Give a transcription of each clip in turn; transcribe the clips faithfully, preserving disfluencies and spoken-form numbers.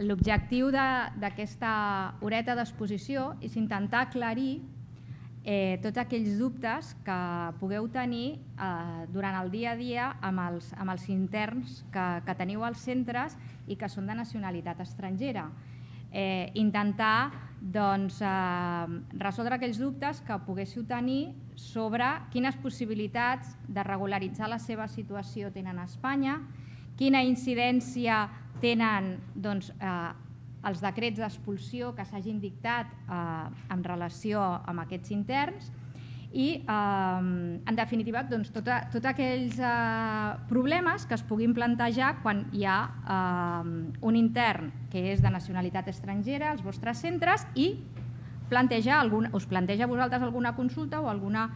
l'objectiu d'aquesta horeta d'exposició és intentar aclarir tots aquells dubtes que pugueu tenir durant el dia a dia amb els interns que teniu als centres i que són de nacionalitat estrangera. Intentar resoldre aquells dubtes que poguéssiu tenir sobre quines possibilitats de regularitzar la seva situació tenen a Espanya, quina incidència tenen els decrets d'expulsió que s'hagin dictat en relació amb aquests interns i, en definitiva, tots aquells problemes que es puguin plantejar quan hi ha un intern que és de nacionalitat estrangera als vostres centres i us planteja a vosaltres alguna consulta o alguna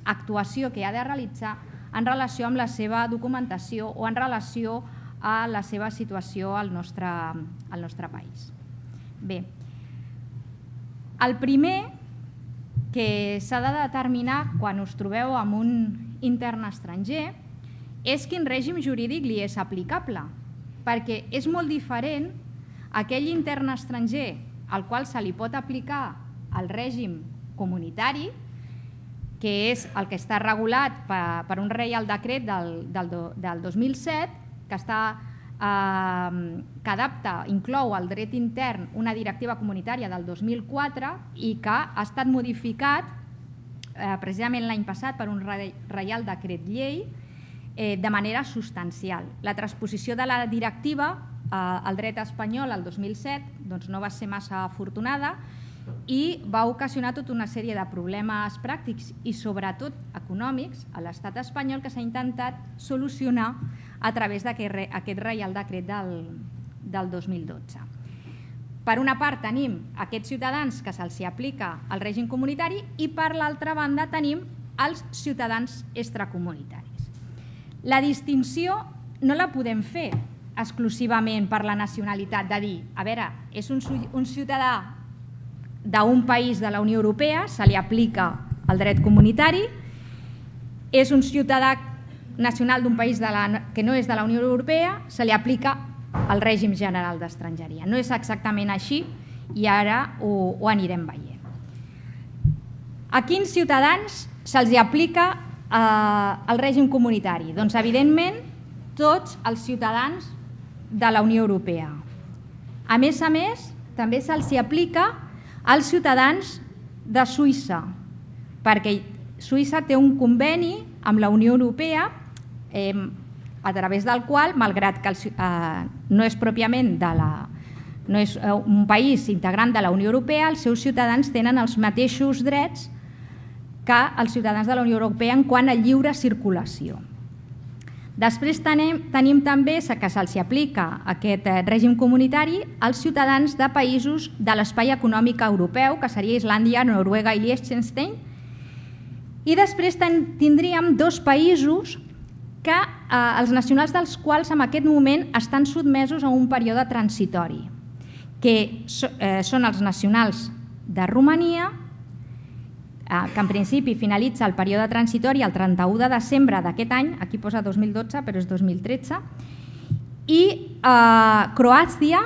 actuació que ha de realitzar en relació amb la seva documentació o en relació a la seva situació al nostre país. Bé, el primer que s'ha de determinar quan us trobeu amb un intern estranger és quin règim jurídic li és aplicable, perquè és molt diferent aquell intern estranger al qual se li pot aplicar el règim comunitari, que és el que està regulat per un Reial Decret del dos mil set, que adapta, inclou al dret intern una directiva comunitària del dos mil quatre i que ha estat modificat precisament l'any passat per un Reial Decret Llei de manera substancial. La transposició de la directiva al dret espanyol el dos mil set no va ser massa afortunada i va ocasionar tota una sèrie de problemes pràctics i sobretot econòmics a l'estat espanyol que s'ha intentat solucionar a través d'aquest Reial Decret del dos mil dotze. Per una part tenim aquests ciutadans que se'ls aplica el règim comunitari i per l'altra banda tenim els ciutadans extracomunitaris. La distinció no la podem fer exclusivament per la nacionalitat, de dir, a veure, és un ciutadà d'un país de la Unió Europea, se li aplica el dret comunitari, és un ciutadà nacional d'un país que no és de la Unió Europea, se li aplica el règim general d'estrangeria. No és exactament així i ara ho anirem veient. A quins ciutadans se'ls aplica el règim comunitari? Doncs, evidentment, tots els ciutadans de la Unió Europea. A més a més, també se'ls aplica als ciutadans de Suïssa, perquè Suïssa té un conveni amb la Unió Europea a través del qual, malgrat que no és pròpiament no és un país integrant de la Unió Europea, els seus ciutadans tenen els mateixos drets que els ciutadans de la Unió Europea en quant a lliure circulació. Després tenim també que se'ls aplica aquest règim comunitari als ciutadans de països de l'espai econòmic europeu, que seria Islàndia, Noruega i Liechtenstein. I després tindríem dos països que els nacionals dels quals en aquest moment estan sotmesos a un període transitori, que són els nacionals de Romania, que en principi finalitza el període transitori el trenta-u de desembre d'aquest any, aquí posa dos mil dotze però és dos mil tretze, i Croàcia,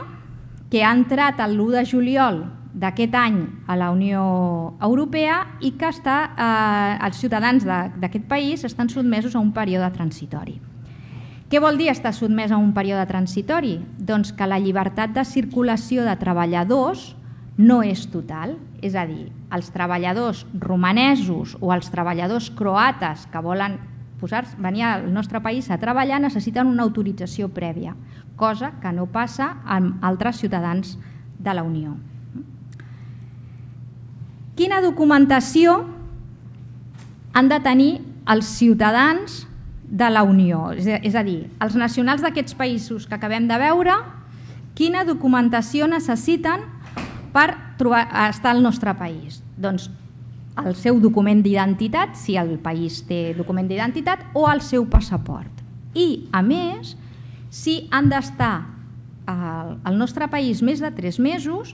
que ha entrat l'u de juliol d'aquest any a la Unió Europea i que els ciutadans d'aquest país estan sotmesos a un període transitori. Què vol dir estar sotmès a un període transitori? Doncs que la llibertat de circulació de treballadors no és total, és a dir, els treballadors romanesos o els treballadors croates que volen venir al nostre país a treballar necessiten una autorització prèvia, cosa que no passa amb altres ciutadans de la Unió. Quina documentació han de tenir els ciutadans de la Unió? És a dir, els nacionals d'aquests països que acabem de veure, quina documentació necessiten per estar al nostre país? Doncs el seu document d'identitat, si el país té document d'identitat, o el seu passaport. I, a més, si han d'estar al nostre país més de tres mesos,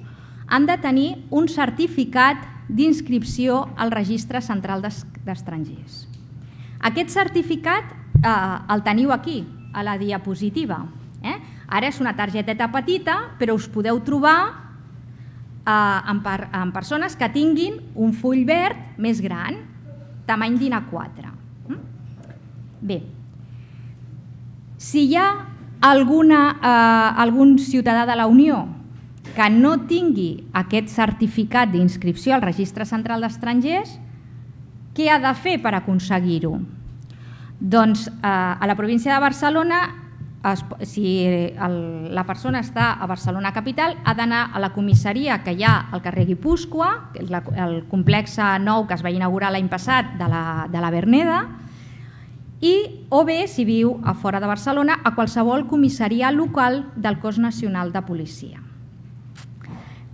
han de tenir un certificat d'inscripció al Registre Central d'Estrangers. Aquest certificat el teniu aquí, a la diapositiva. Ara és una targeteta petita, però us podeu trobar amb persones que tinguin un full verd més gran, tamany DIN A quatre. Bé, si hi ha algun ciutadà de la Unió que no tingui aquest certificat d'inscripció al Registre Central d'Estrangers, què ha de fer per aconseguir-ho? Doncs a la província de Barcelona, si la persona està a Barcelona capital, ha d'anar a la comissaria que hi ha al carrer Guipúscoa, el complex nou que es va inaugurar l'any passat de la Verneda, i o bé, si viu a fora de Barcelona, a qualsevol comissaria local del Cos Nacional de Policia.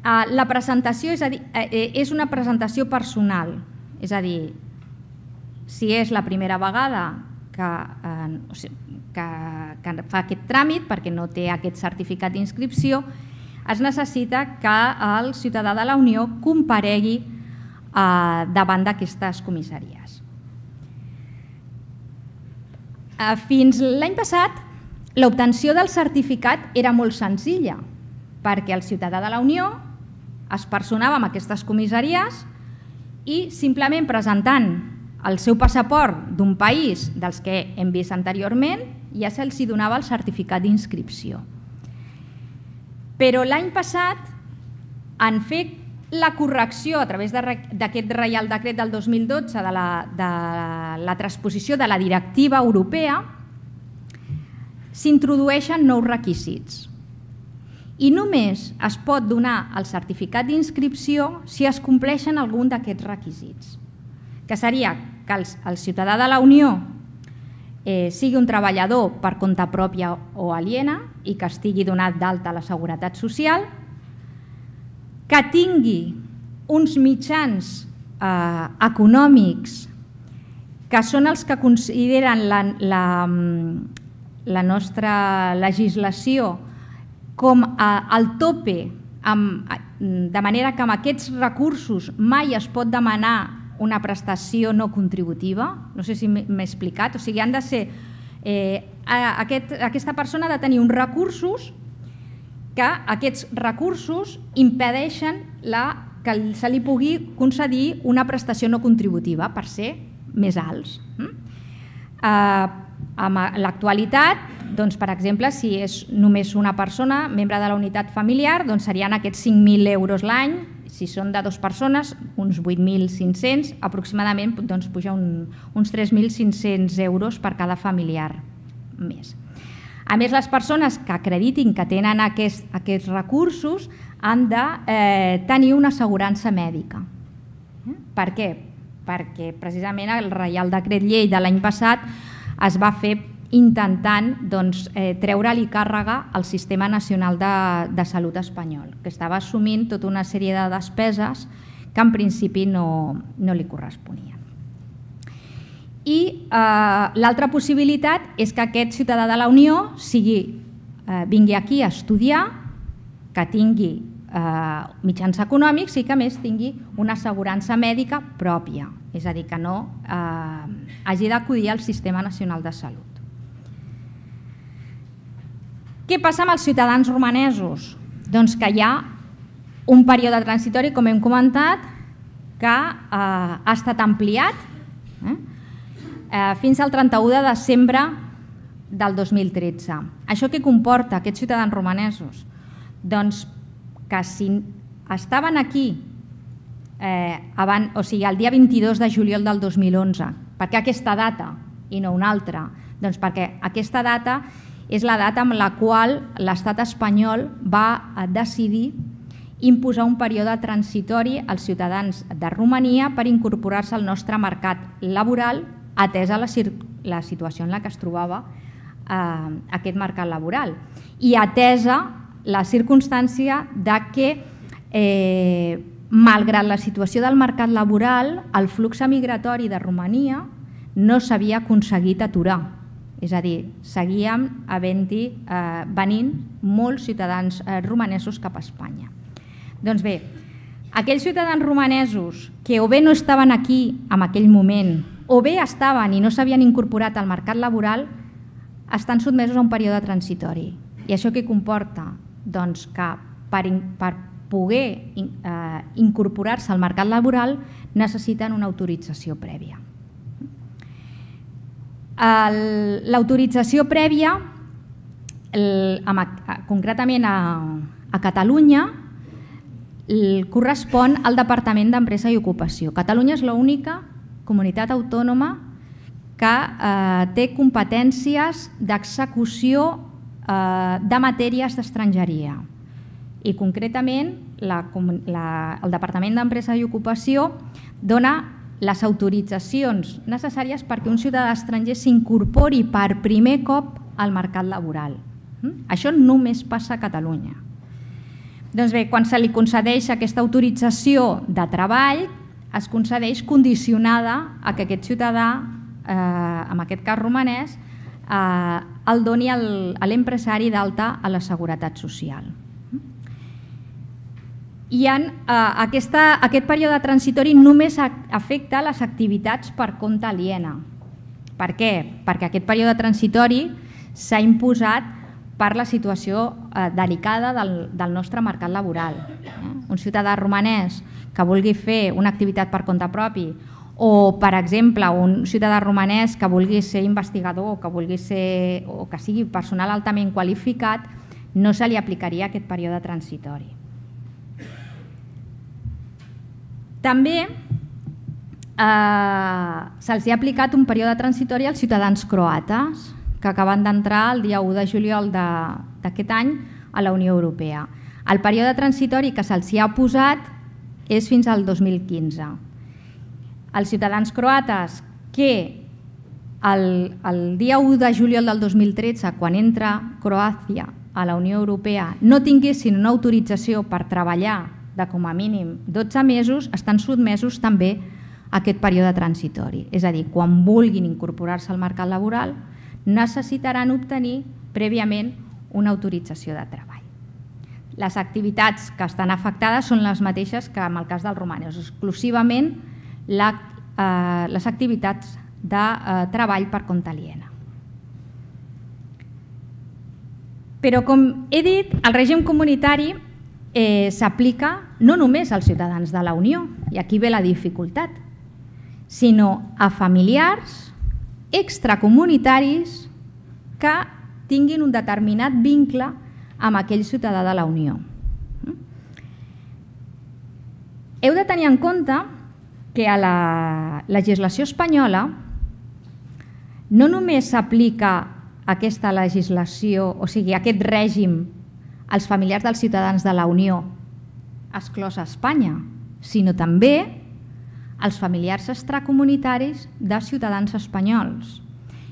La presentació és una presentació personal, és a dir, si és la primera vegada que fa aquest tràmit perquè no té aquest certificat d'inscripció, es necessita que el ciutadà de la Unió comparegui davant d'aquestes comissaries. Fins l'any passat, l'obtenció del certificat era molt senzilla, perquè el ciutadà de la Unió es personava en aquestes comissaries i simplement presentant el seu passaport d'un país dels que hem vist anteriorment ja se'ls donava el certificat d'inscripció. Però l'any passat, en fer la correcció a través d'aquest Reial Decret del dos mil dotze de la transposició de la directiva europea, s'introdueixen nous requisits. I només es pot donar el certificat d'inscripció si es compleixen algun d'aquests requisits, que seria que el ciutadà de la Unió sigui un treballador per compte pròpia o aliena i que estigui donat d'alta a la Seguretat Social, que tingui uns mitjans econòmics que són els que consideren la nostra legislació com el tope, de manera que amb aquests recursos mai es pot demanar una prestació no contributiva. No sé si m'he explicat. O sigui, han de ser... Aquesta persona ha de tenir uns recursos que aquests recursos impedeixen que se li pugui concedir una prestació no contributiva per ser més alts. En l'actualitat, per exemple, si és només una persona, membre de la unitat familiar, serien aquests cinc mil euros l'any. Si són de dues persones, uns vuit mil cinc-cents, aproximadament puja uns tres mil cinc-cents euros per cada familiar més. A més, les persones que acreditin que tenen aquests recursos han de tenir una assegurança mèdica. Per què? Perquè precisament el Reial Decret Llei de l'any passat es va fer intentant treure-li càrrega al Sistema Nacional de Salut espanyol, que estava assumint tota una sèrie de despeses que en principi no li corresponien. I l'altra possibilitat és que aquest ciutadà de la Unió vingui aquí a estudiar, que tingui mitjans econòmics i que a més tingui una assegurança mèdica pròpia, és a dir, que no hagi d'acudir al Sistema Nacional de Salut. Què passa amb els ciutadans romanesos? Doncs que hi ha un període transitori, com hem comentat, que ha estat ampliat fins al trenta-u de desembre del dos mil tretze. Això què comporta, aquests ciutadans romanesos? Doncs que si estaven aquí o sigui, el dia vint-i-dos de juliol del dos mil onze, per què aquesta data i no una altra? Doncs perquè aquesta data és la data amb la qual l'estat espanyol va decidir imposar un període transitori als ciutadans de Romania per incorporar-se al nostre mercat laboral, atesa la situació en la que es trobava aquest mercat laboral i atesa la circumstància que, malgrat la situació del mercat laboral, el flux migratori de Romania no s'havia aconseguit aturar. És a dir, seguíem venint molts ciutadans romanesos cap a Espanya. Doncs bé, aquells ciutadans romanesos que o bé no estaven aquí en aquell moment o bé estaven i no s'havien incorporat al mercat laboral estan sotmesos a un període transitori. I això què comporta? Doncs que per, per poder eh, incorporar-se al mercat laboral necessiten una autorització prèvia. L'autorització prèvia, el, concretament a, a Catalunya, el, correspon al Departament d'Empresa i Ocupació. Catalunya és l'única comunitat autònoma que eh, té competències d'execució eh, de matèries d'estrangeria. I concretament la, la, el Departament d'Empresa i Ocupació dona les autoritzacions necessàries perquè un ciutadà estranger s'incorpori per primer cop al mercat laboral. Això només passa a Catalunya. Doncs bé, quan se li concedeix aquesta autorització de treball, es concedeix condicionada a que aquest ciutadà, eh, en aquest cas romanès, eh, el doni a l'empresari d'alta a la Seguretat Social. I en, eh, aquesta, aquest període transitori només afecta les activitats per compte aliena. Per què? Perquè aquest període transitori s'ha imposat per la situació eh, delicada del, del nostre mercat laboral. Eh? Un ciutadà romanès que vulgui fer una activitat per compte propi o, per exemple, un ciutadà romanès que vulgui ser investigador o que, vulgui ser, o que sigui personal altament qualificat, no se li aplicaria aquest període transitori. També eh, se'ls ha aplicat un període transitori als ciutadans croates que acaben d'entrar el dia u de juliol d'aquest any a la Unió Europea. El període transitori que se'ls ha posat és fins al dos mil quinze. Els ciutadans croates que el, el dia u de juliol del dos mil tretze, quan entra Croàcia a la Unió Europea, no tinguessin una autorització per treballar de com a mínim dotze mesos, estan sotmesos també a aquest període transitori. És a dir, quan vulguin incorporar-se al mercat laboral, necessitaran obtenir prèviament una autorització de treball. Les activitats que estan afectades són les mateixes que en el cas dels romanesos, exclusivament la, eh, les activitats de eh, treball per compte aliena. Però, com he dit, el règim comunitari Eh, s'aplica no només als ciutadans de la Unió, i aquí ve la dificultat, sinó a familiars extracomunitaris que tinguin un determinat vincle amb aquell ciutadà de la Unió. Heu de tenir en compte que a la legislació espanyola no només s'aplica aquesta legislació, o sigui, aquest règim als familiars dels ciutadans de la Unió exclòs a Espanya, sinó també als familiars extracomunitaris de ciutadans espanyols.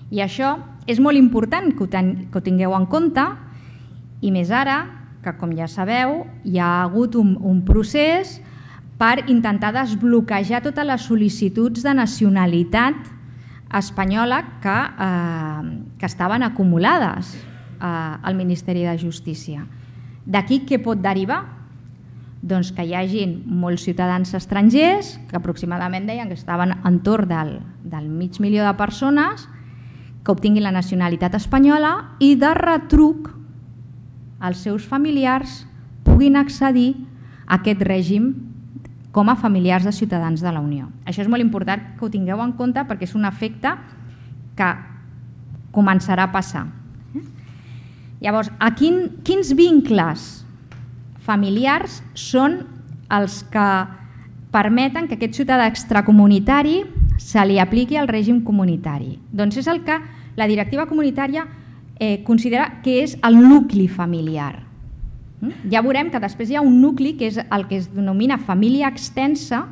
I això és molt important que ho, ten, que ho tingueu en compte, i més ara que, com ja sabeu, hi ha hagut un, un procés per intentar desbloquejar totes les sol·licituds de nacionalitat espanyola que, eh, que estaven acumulades eh, al Ministeri de Justícia. D'aquí què pot derivar? Doncs que hi hagin molts ciutadans estrangers, que aproximadament deien que estaven entorn del, del mig milió de persones, que obtinguin la nacionalitat espanyola i de retruc els seus familiars puguin accedir a aquest règim com a familiars de ciutadans de la Unió. Això és molt important que ho tingueu en compte perquè és un efecte que començarà a passar. Llavors, a quin, quins vincles familiars són els que permeten que aquest ciutadà extracomunitari se li apliqui el règim comunitari? Doncs és el que la directiva comunitària eh, considera que és el nucli familiar. Ja veurem que després hi ha un nucli que és el que es denomina família extensa,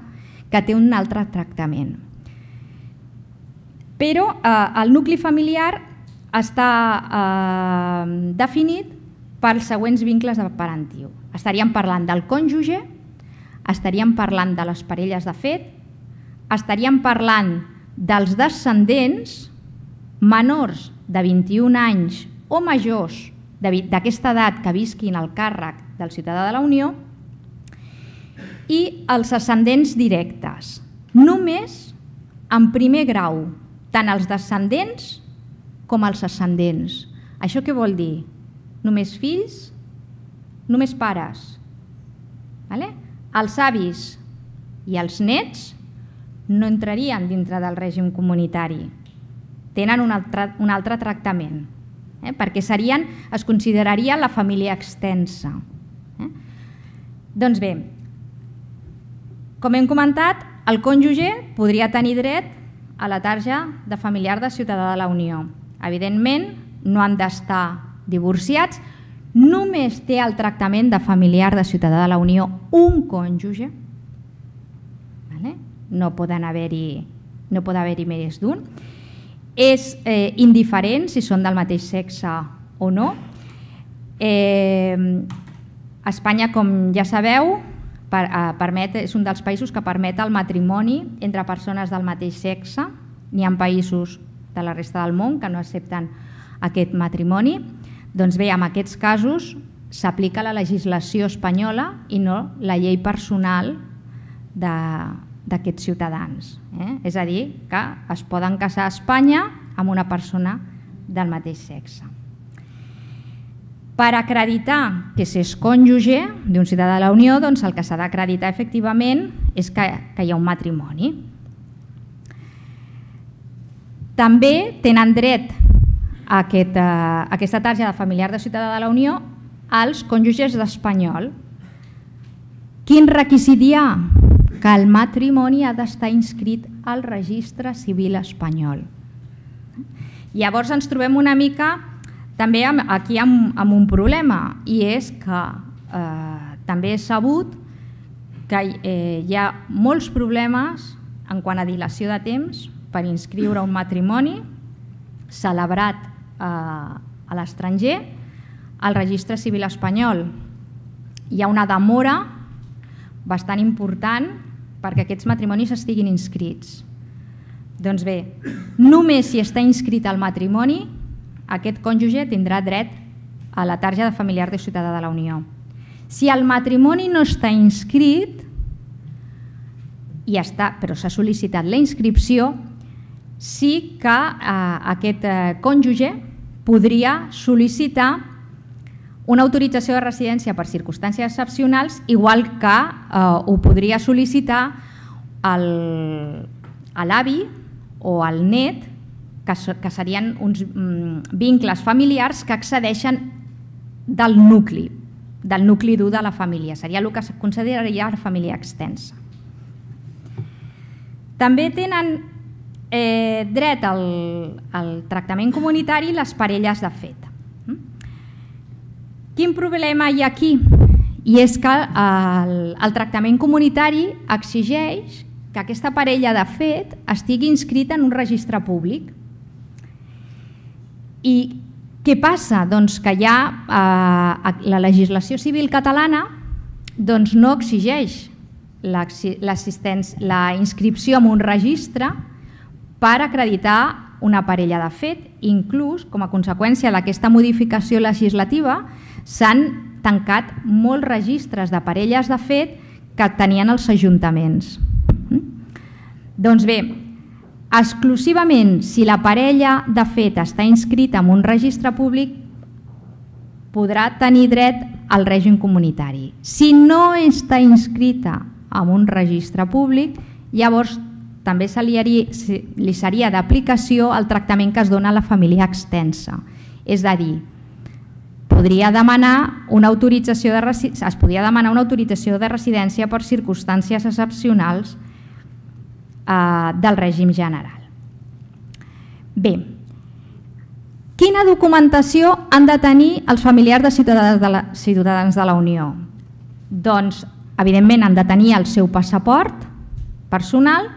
que té un altre tractament. Però eh, el nucli familiar està eh, definit pels següents vincles de parentiu. Estaríem parlant del cònjuge, estaríem parlant de les parelles de fet, estaríem parlant dels descendents menors de vint-i-un anys o majors d'aquesta edat que visquin al càrrec del ciutadà de la Unió i els ascendents directes. Només en primer grau, tant els descendents com els ascendents. Això què vol dir? només fills, només pares. Els avis i els nets no entrarien dintre del règim comunitari. Tenen un altre, un altre tractament, eh? perquè serien, es consideraria la família extensa. Eh? Doncs bé, com hem comentat, el cònjuge podria tenir dret a la tarja de familiar de ciutadà de la Unió. Evidentment, no han d'estar divorciats, només té el tractament de familiar de ciutadà de la Unió un cònjuge, no poden haver-hi no pot haver-hi més d'un. És eh, indiferent si són del mateix sexe o no. Eh, Espanya, com ja sabeu, per, eh, permet, és un dels països que permet el matrimoni entre persones del mateix sexe. N'hi ha països de la resta del món que no accepten aquest matrimoni. Doncs bé, en aquests casos s'aplica la legislació espanyola i no la llei personal de d'aquests ciutadans. Eh? És a dir, que es poden casar a Espanya amb una persona del mateix sexe. Per acreditar que s'és cònjuge d'un ciutadà de la Unió, doncs el que s'ha d'acreditar efectivament és que, que hi ha un matrimoni. També tenen dret a, aquest, a aquesta tarja de familiar de ciutadà de la Unió als cònjuges d'espanyol. Quin requisit hi ha? Que el matrimoni ha d'estar inscrit al registre civil espanyol. Llavors ens trobem una mica també aquí amb, amb un problema, i és que eh, també és sabut que eh, hi ha molts problemes en quant a dilació de temps per inscriure un matrimoni celebrat eh, a l'estranger al registre civil espanyol. Hi ha una demora bastant important perquè aquests matrimonis estiguin inscrits. Doncs bé, només si està inscrit el matrimoni, aquest cònjuge tindrà dret a la tarja de familiar de ciutadà de la Unió. Si el matrimoni no està inscrit, i està, però s'ha sol·licitat la inscripció, sí que eh, aquest eh, cònjuge podria sol·licitar una autorització de residència per circumstàncies excepcionals, igual que eh, ho podria sol·licitar l'avi o el net, que, que serien uns mm, vincles familiars que excedeixen del nucli, del nucli dur de la família. Seria el que es consideraria la família extensa. També tenen eh, dret al, al tractament comunitari les parelles de fet. Quin problema hi ha aquí? I és que el, el tractament comunitari exigeix que aquesta parella de fet estigui inscrita en un registre públic. I què passa? Doncs que ja eh, la legislació civil catalana doncs no exigeix la inscripció en un registre per acreditar una parella de fet. Inclús, com a conseqüència d'aquesta modificació legislativa, s'han tancat molts registres de parelles de fet que tenien els ajuntaments. Doncs bé, exclusivament si la parella de fet està inscrita en un registre públic podrà tenir dret al règim comunitari. Si no està inscrita en un registre públic, llavors també se li, li seria d'aplicació el tractament que es dona a la família extensa. És a dir, podria demanar una autorització de residència, es podria demanar una autorització de residència per circumstàncies excepcionals eh, del règim general. Bé, quina documentació han de tenir els familiars de ciutadans de la, ciutadans de la Unió? Doncs, evidentment, han de tenir el seu passaport personal,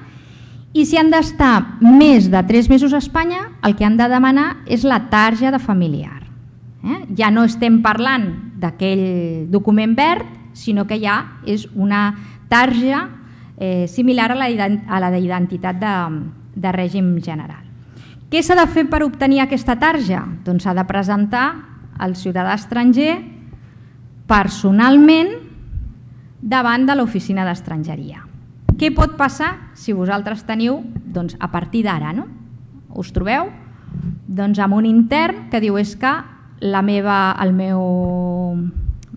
i si han d'estar més de tres mesos a Espanya, el que han de demanar és la tarja de familiar. Eh? Ja no estem parlant d'aquell document verd, sinó que ja és una tarja eh, similar a la, a la d'identitat de, de règim general. Què s'ha de fer per obtenir aquesta tarja? Doncs s'ha de presentar el ciutadà estranger personalment davant de l'oficina d'estrangeria. Què pot passar si vosaltres teniu, doncs a partir d'ara, no? Us trobeu doncs amb un intern que diu és que la meva, el meu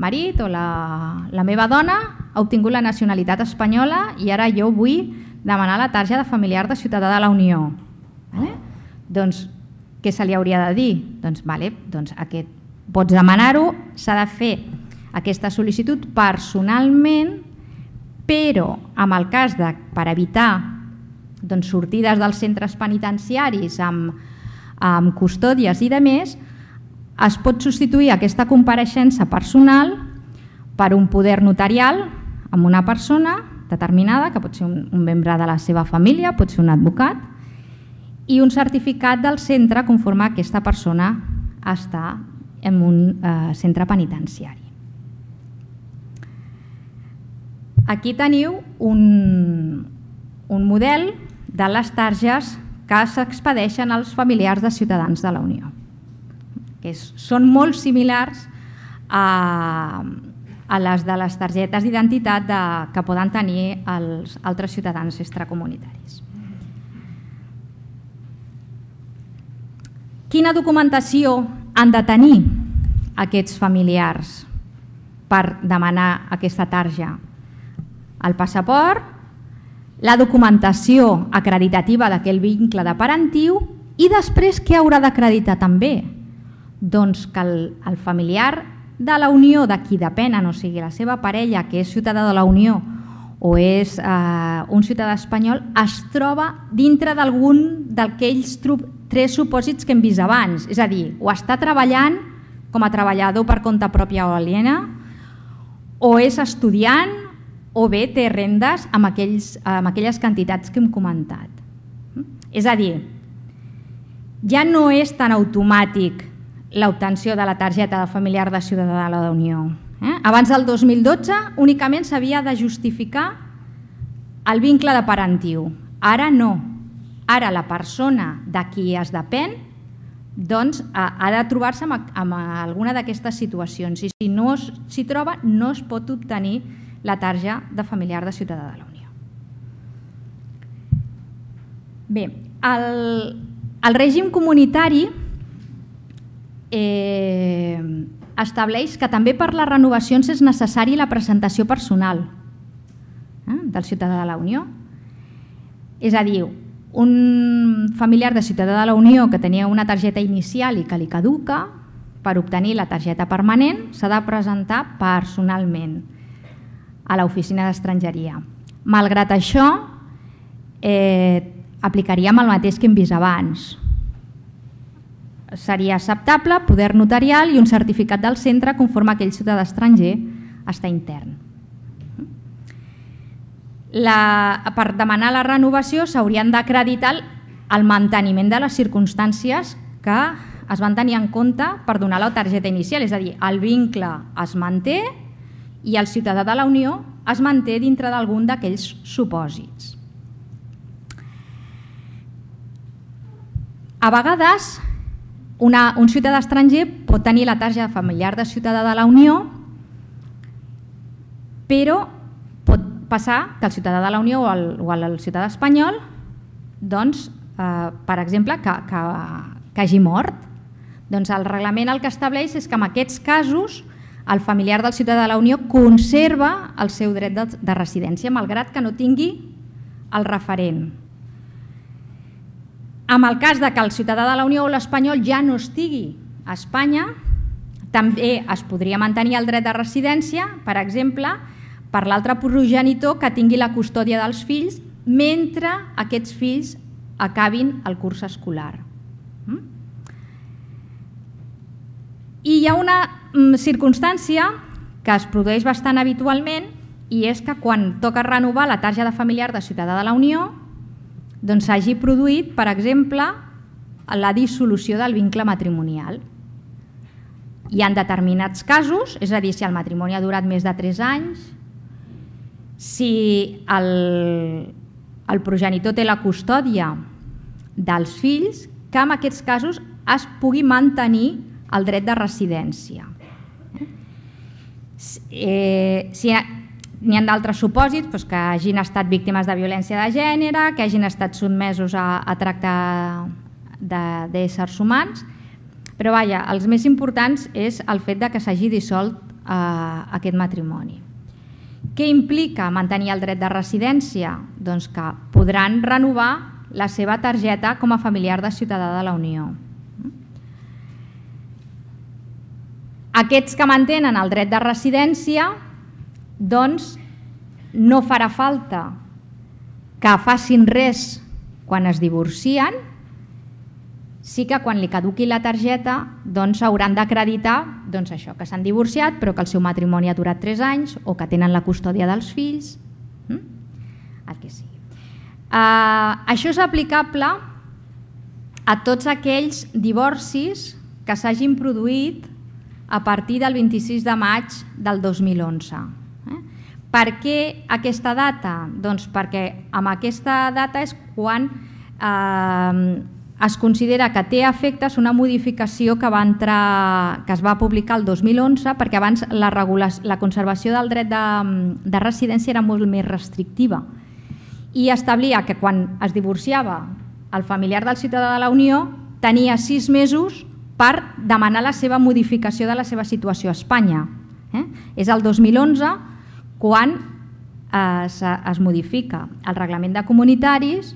marit o la, la meva dona ha obtingut la nacionalitat espanyola i ara jo vull demanar la targeta de familiar de ciutadà de la Unió. Vale? Doncs què se li hauria de dir? Doncs, vale, doncs aquest, pots demanar-ho, s'ha de fer aquesta sol·licitud personalment, però en el cas de, per evitar doncs, sortides dels centres penitenciaris amb, amb custòdies i demés, es pot substituir aquesta compareixença personal per un poder notarial amb una persona determinada, que pot ser un, un membre de la seva família, pot ser un advocat, i un certificat del centre conforme aquesta persona està en un eh, centre penitenciari. Aquí teniu un, un model de les targes que s'expedeixen als familiars de ciutadans de la Unió. Que és, són molt similars a, a les de les targetes d'identitat que poden tenir els altres ciutadans extracomunitaris. Quina documentació han de tenir aquests familiars per demanar aquesta tarja? El passaport, la documentació acreditativa d'aquell vincle de parentiu i després què haurà d'acreditar també? Doncs que el, el familiar de la Unió de qui depenen, o sigui la seva parella que és ciutadà de la Unió o és eh, un ciutadà espanyol, es troba dintre d'algun d'aquells tres supòsits que hem vist abans, és a dir, o està treballant com a treballador per compte pròpia o aliena, o és estudiant, o bé té rendes amb, aquells, amb aquelles quantitats que hem comentat. És a dir, ja no és tan automàtic l'obtenció de la targeta de familiar de ciutadà de la Unió. Eh? Abans del dos mil dotze únicament s'havia de justificar el vincle de parentiu. Ara no. Ara la persona de qui es depèn doncs, ha de trobar-se amb, amb alguna d'aquestes situacions i si no s'hi troba no es pot obtenir la tarja de familiar de ciutadà de la Unió. Bé, el, el règim comunitari eh, estableix que també per les renovacions és necessari la presentació personal eh, del ciutadà de la Unió. És a dir, un familiar de ciutadà de la Unió que tenia una targeta inicial i que li caduca, per obtenir la targeta permanent s'ha de presentar personalment a l'oficina d'estrangeria. Malgrat això, eh, aplicaríem el mateix que hem vist abans. Seria acceptable poder notarial i un certificat del centre conforme aquell ciutadà estranger està intern. La, per demanar la renovació s'haurien d'acreditar el manteniment de les circumstàncies que es van tenir en compte per donar la targeta inicial, és a dir, el vincle es manté i el ciutadà de la Unió es manté dintre d'algun d'aquells supòsits. A vegades, una, un ciutadà estranger pot tenir la targeta familiar de ciutadà de la Unió, però pot passar que el ciutadà de la Unió o el, o el ciutadà espanyol, doncs, eh, per exemple, que, que, que hagi mort. Doncs el reglament el que estableix és que en aquests casos el familiar del ciutadà de la Unió conserva el seu dret de, de residència, malgrat que no tingui el referent. En el cas de que el ciutadà de la Unió o l'espanyol ja no estigui a Espanya, també es podria mantenir el dret de residència, per exemple, per l'altre progenitor que tingui la custòdia dels fills mentre aquests fills acabin el curs escolar. I hi ha una circumstància que es produeix bastant habitualment i és que quan toca renovar la targeta familiar de ciutadà de la Unió doncs s'hagi produït, per exemple, la dissolució del vincle matrimonial. Hi ha determinats casos, és a dir, si el matrimoni ha durat més de tres anys, si el, el progenitor té la custòdia dels fills, que en aquests casos es pugui mantenir el dret de residència. Eh, si n'hi ha d'altres supòsits, doncs que hagin estat víctimes de violència de gènere, que hagin estat sotmesos a, a tracte d'éssers humans, Però vaja, els més importants és el fet de que s'hagi dissolt aquest matrimoni. Què implica mantenir el dret de residència? Doncs que podran renovar la seva targeta com a familiar de ciutadà de la Unió. Aquests que mantenen el dret de residència, doncs no farà falta que facin res quan es divorcien, sí que quan li caduqui la targeta hauran d'acreditar això, que s'han divorciat però que el seu matrimoni ha durat tres anys o que tenen la custòdia dels fills, el que sigui. Això és aplicable a tots aquells divorcis que s'hagin produït a partir del vint-i-sis de maig del dos mil onze. Per què aquesta data? Doncs perquè amb aquesta data és quan es considera que té efectes una modificació que va entrar, que es va publicar el dos mil onze, perquè abans la, la conservació del dret de, de residència era molt més restrictiva i establia que quan es divorciava el familiar del ciutadà de la Unió tenia sis mesos per demanar la seva modificació de la seva situació a Espanya. Eh? És el dos mil onze quan es, es modifica el reglament de comunitaris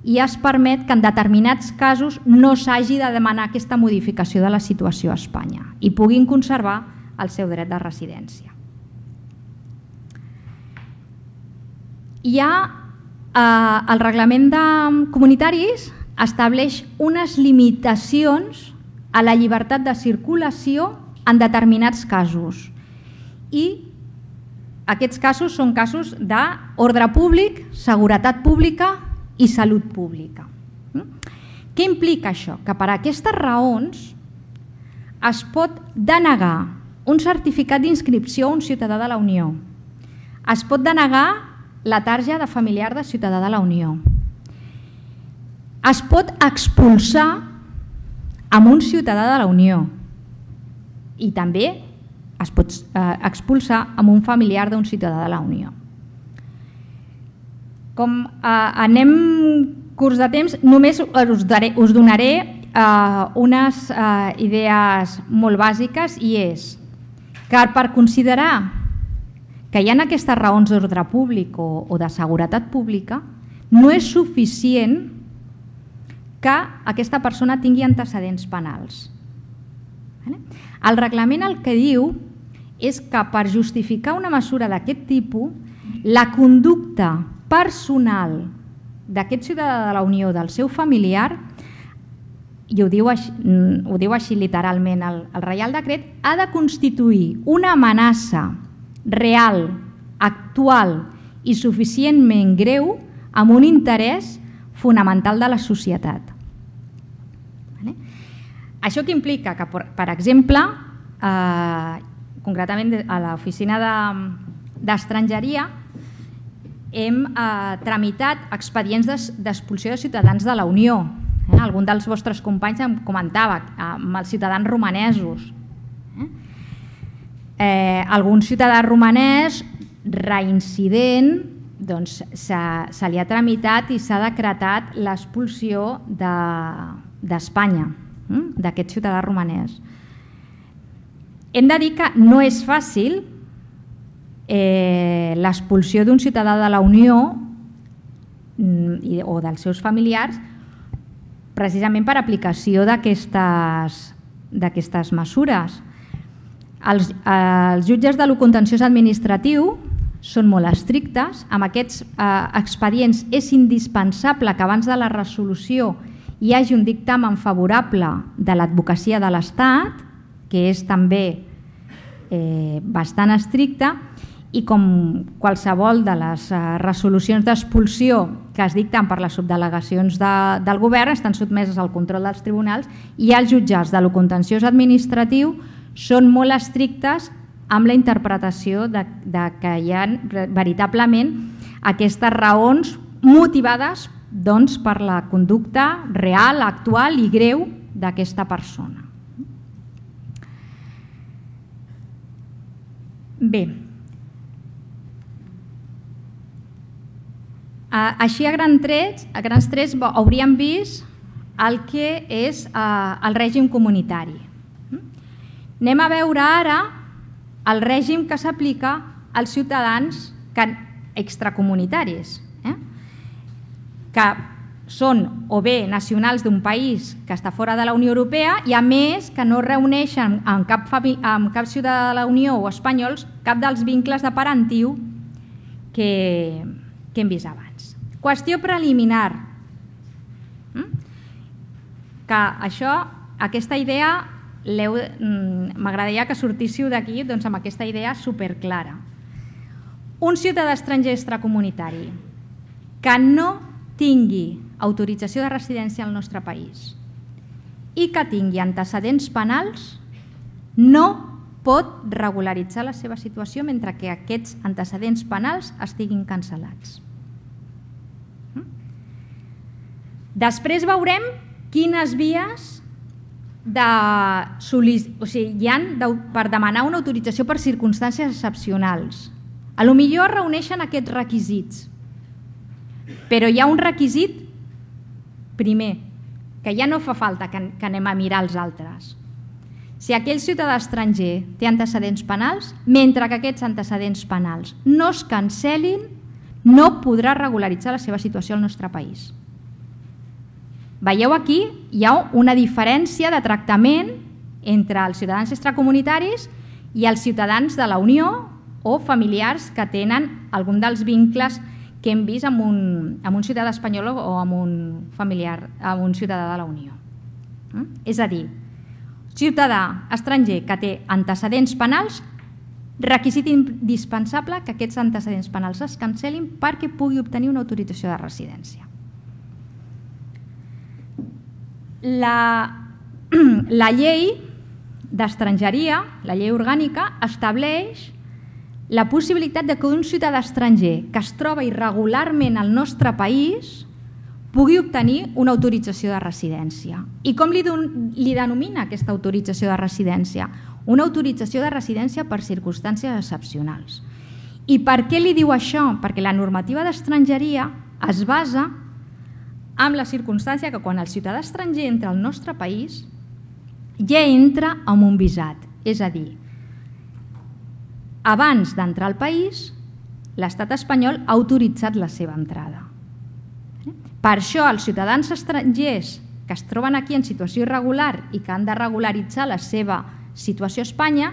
i es permet que en determinats casos no s'hagi de demanar aquesta modificació de la situació a Espanya i puguin conservar el seu dret de residència. Hi ha eh, el reglament de comunitaris estableix unes limitacions a la llibertat de circulació en determinats casos i aquests casos són casos d'ordre públic, seguretat pública i salut pública. Què implica això? Que per aquestes raons es pot denegar un certificat d'inscripció a un ciutadà de la Unió, es pot denegar la tarja de familiar de ciutadà de la Unió, es pot expulsar amb un ciutadà de la Unió i també es pot expulsar amb un familiar d'un ciutadà de la Unió. Com anem curts de temps, només us donaré unes idees molt bàsiques i és que per considerar que hi ha aquestes raons d'ordre públic o de seguretat pública no és suficient que aquesta persona tingui antecedents penals. El reglament el que diu és que per justificar una mesura d'aquest tipus la conducta personal d'aquest ciutadà de la Unió, del seu familiar, i ho diu així, ho diu així literalment el, el Reial Decret, ha de constituir una amenaça real, actual i suficientment greu amb un interès fonamental de la societat. Vale? Això que implica que, per exemple, eh, concretament a l'oficina d'estrangeria, hem eh, tramitat expedients d'expulsió de ciutadans de la Unió. Eh? Algun dels vostres companys em comentava eh, amb els ciutadans romanesos. Eh? Eh, algun ciutadà romanès reincident doncs, se, se li ha tramitat i s'ha decretat l'expulsió d'Espanya, de, eh? d'aquest ciutadà romanès. Hem de dir que no és fàcil Eh, l'expulsió d'un ciutadà de la Unió o dels seus familiars precisament per aplicació d'aquestes d'aquestes mesures. Els, els jutges de lo contenciós administratiu són molt estrictes. Amb aquests eh, expedients és indispensable que abans de la resolució hi hagi un dictamen favorable de l'advocacia de l'Estat, que és també eh, bastant estricte, i com qualsevol de les resolucions d'expulsió que es dicten per les subdelegacions de, del govern estan sotmeses al control dels tribunals i els jutges de lo contenciós administratiu són molt estrictes amb la interpretació de, de que hi ha veritablement aquestes raons motivades doncs, per la conducta real, actual i greu d'aquesta persona. Bé, així a grans trets, a grans trets hauríem vist el que és el règim comunitari. Anem a veure ara el règim que s'aplica als ciutadans extracomunitaris, que són o bé nacionals d'un país que està fora de la Unió Europea i a més que no reuneixen amb cap, amb cap ciutadà de la Unió o espanyols cap dels vincles de parentiu que, que hem vist abans. Qüestió preliminar, que això, aquesta idea m'agradaria que sortíssiu d'aquí doncs, amb aquesta idea superclara. Un ciutadà estranger extracomunitari que no tingui autorització de residència al nostre país i que tingui antecedents penals no pot regularitzar la seva situació mentre que aquests antecedents penals estiguin cancel·lats. Després veurem quines vies de o sigui, hi ha per demanar una autorització per circumstàncies excepcionals. A lo millor es reuneixen aquests requisits, però hi ha un requisit primer, que ja no fa falta que anem a mirar els altres. Si aquell ciutadà estranger té antecedents penals, mentre que aquests antecedents penals no es cancel·lin, no podrà regularitzar la seva situació al nostre país. Veieu aquí, hi ha una diferència de tractament entre els ciutadans extracomunitaris i els ciutadans de la Unió o familiars que tenen algun dels vincles que hem vist amb un, amb un ciutadà espanyol o amb un familiar, amb un ciutadà de la Unió. És a dir, ciutadà estranger que té antecedents penals, requisit indispensable que aquests antecedents penals es cancel·lin perquè pugui obtenir una autorització de residència. La, la llei d'estrangeria, la llei orgànica, estableix la possibilitat de que un ciutadà estranger que es troba irregularment al nostre país pugui obtenir una autorització de residència. I com li, li denomina aquesta autorització de residència? Una autorització de residència per circumstàncies excepcionals. I per què li diu això? Perquè la normativa d'estrangeria es basa en la circumstància que quan el ciutadà estranger entra al nostre país ja entra amb un visat, és a dir, abans d'entrar al país, l'estat espanyol ha autoritzat la seva entrada. Per això, els ciutadans estrangers que es troben aquí en situació irregular i que han de regularitzar la seva situació a Espanya,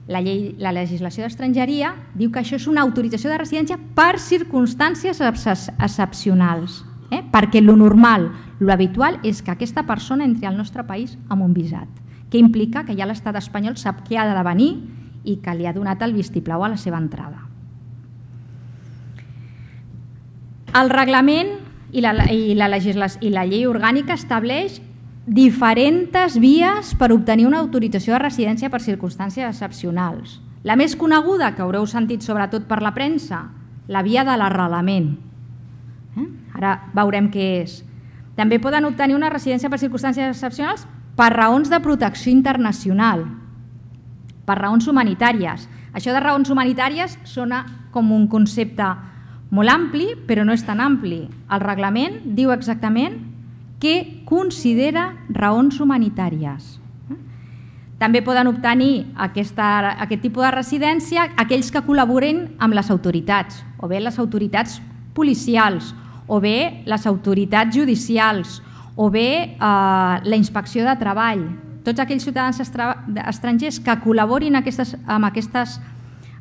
la, llei, la legislació d'estrangeria diu que això és una autorització de residència per circumstàncies excepcionals, eh? perquè lo normal, lo habitual és que aquesta persona entri al nostre país amb un visat, que implica que ja l'estat espanyol sap què ha de venir i que li ha donat el vistiplau a la seva entrada. El reglament i la, i la, legislació, i la llei orgànica estableix diferents vies per obtenir una autorització de residència per circumstàncies excepcionals. La més coneguda, que haureu sentit sobretot per la premsa, la via de l'arrelament. Eh? Ara veurem què és. També poden obtenir una residència per circumstàncies excepcionals per raons de protecció internacional, per raons humanitàries. Això de raons humanitàries sona com un concepte molt ampli, però no és tan ampli. El reglament diu exactament què considera raons humanitàries. També poden obtenir aquesta, aquest tipus de residència aquells que col·laboren amb les autoritats, o bé les autoritats policials, o bé les autoritats judicials, o bé eh, la inspecció de treball. Tots aquells ciutadans estrangers que col·laborin aquestes, amb aquestes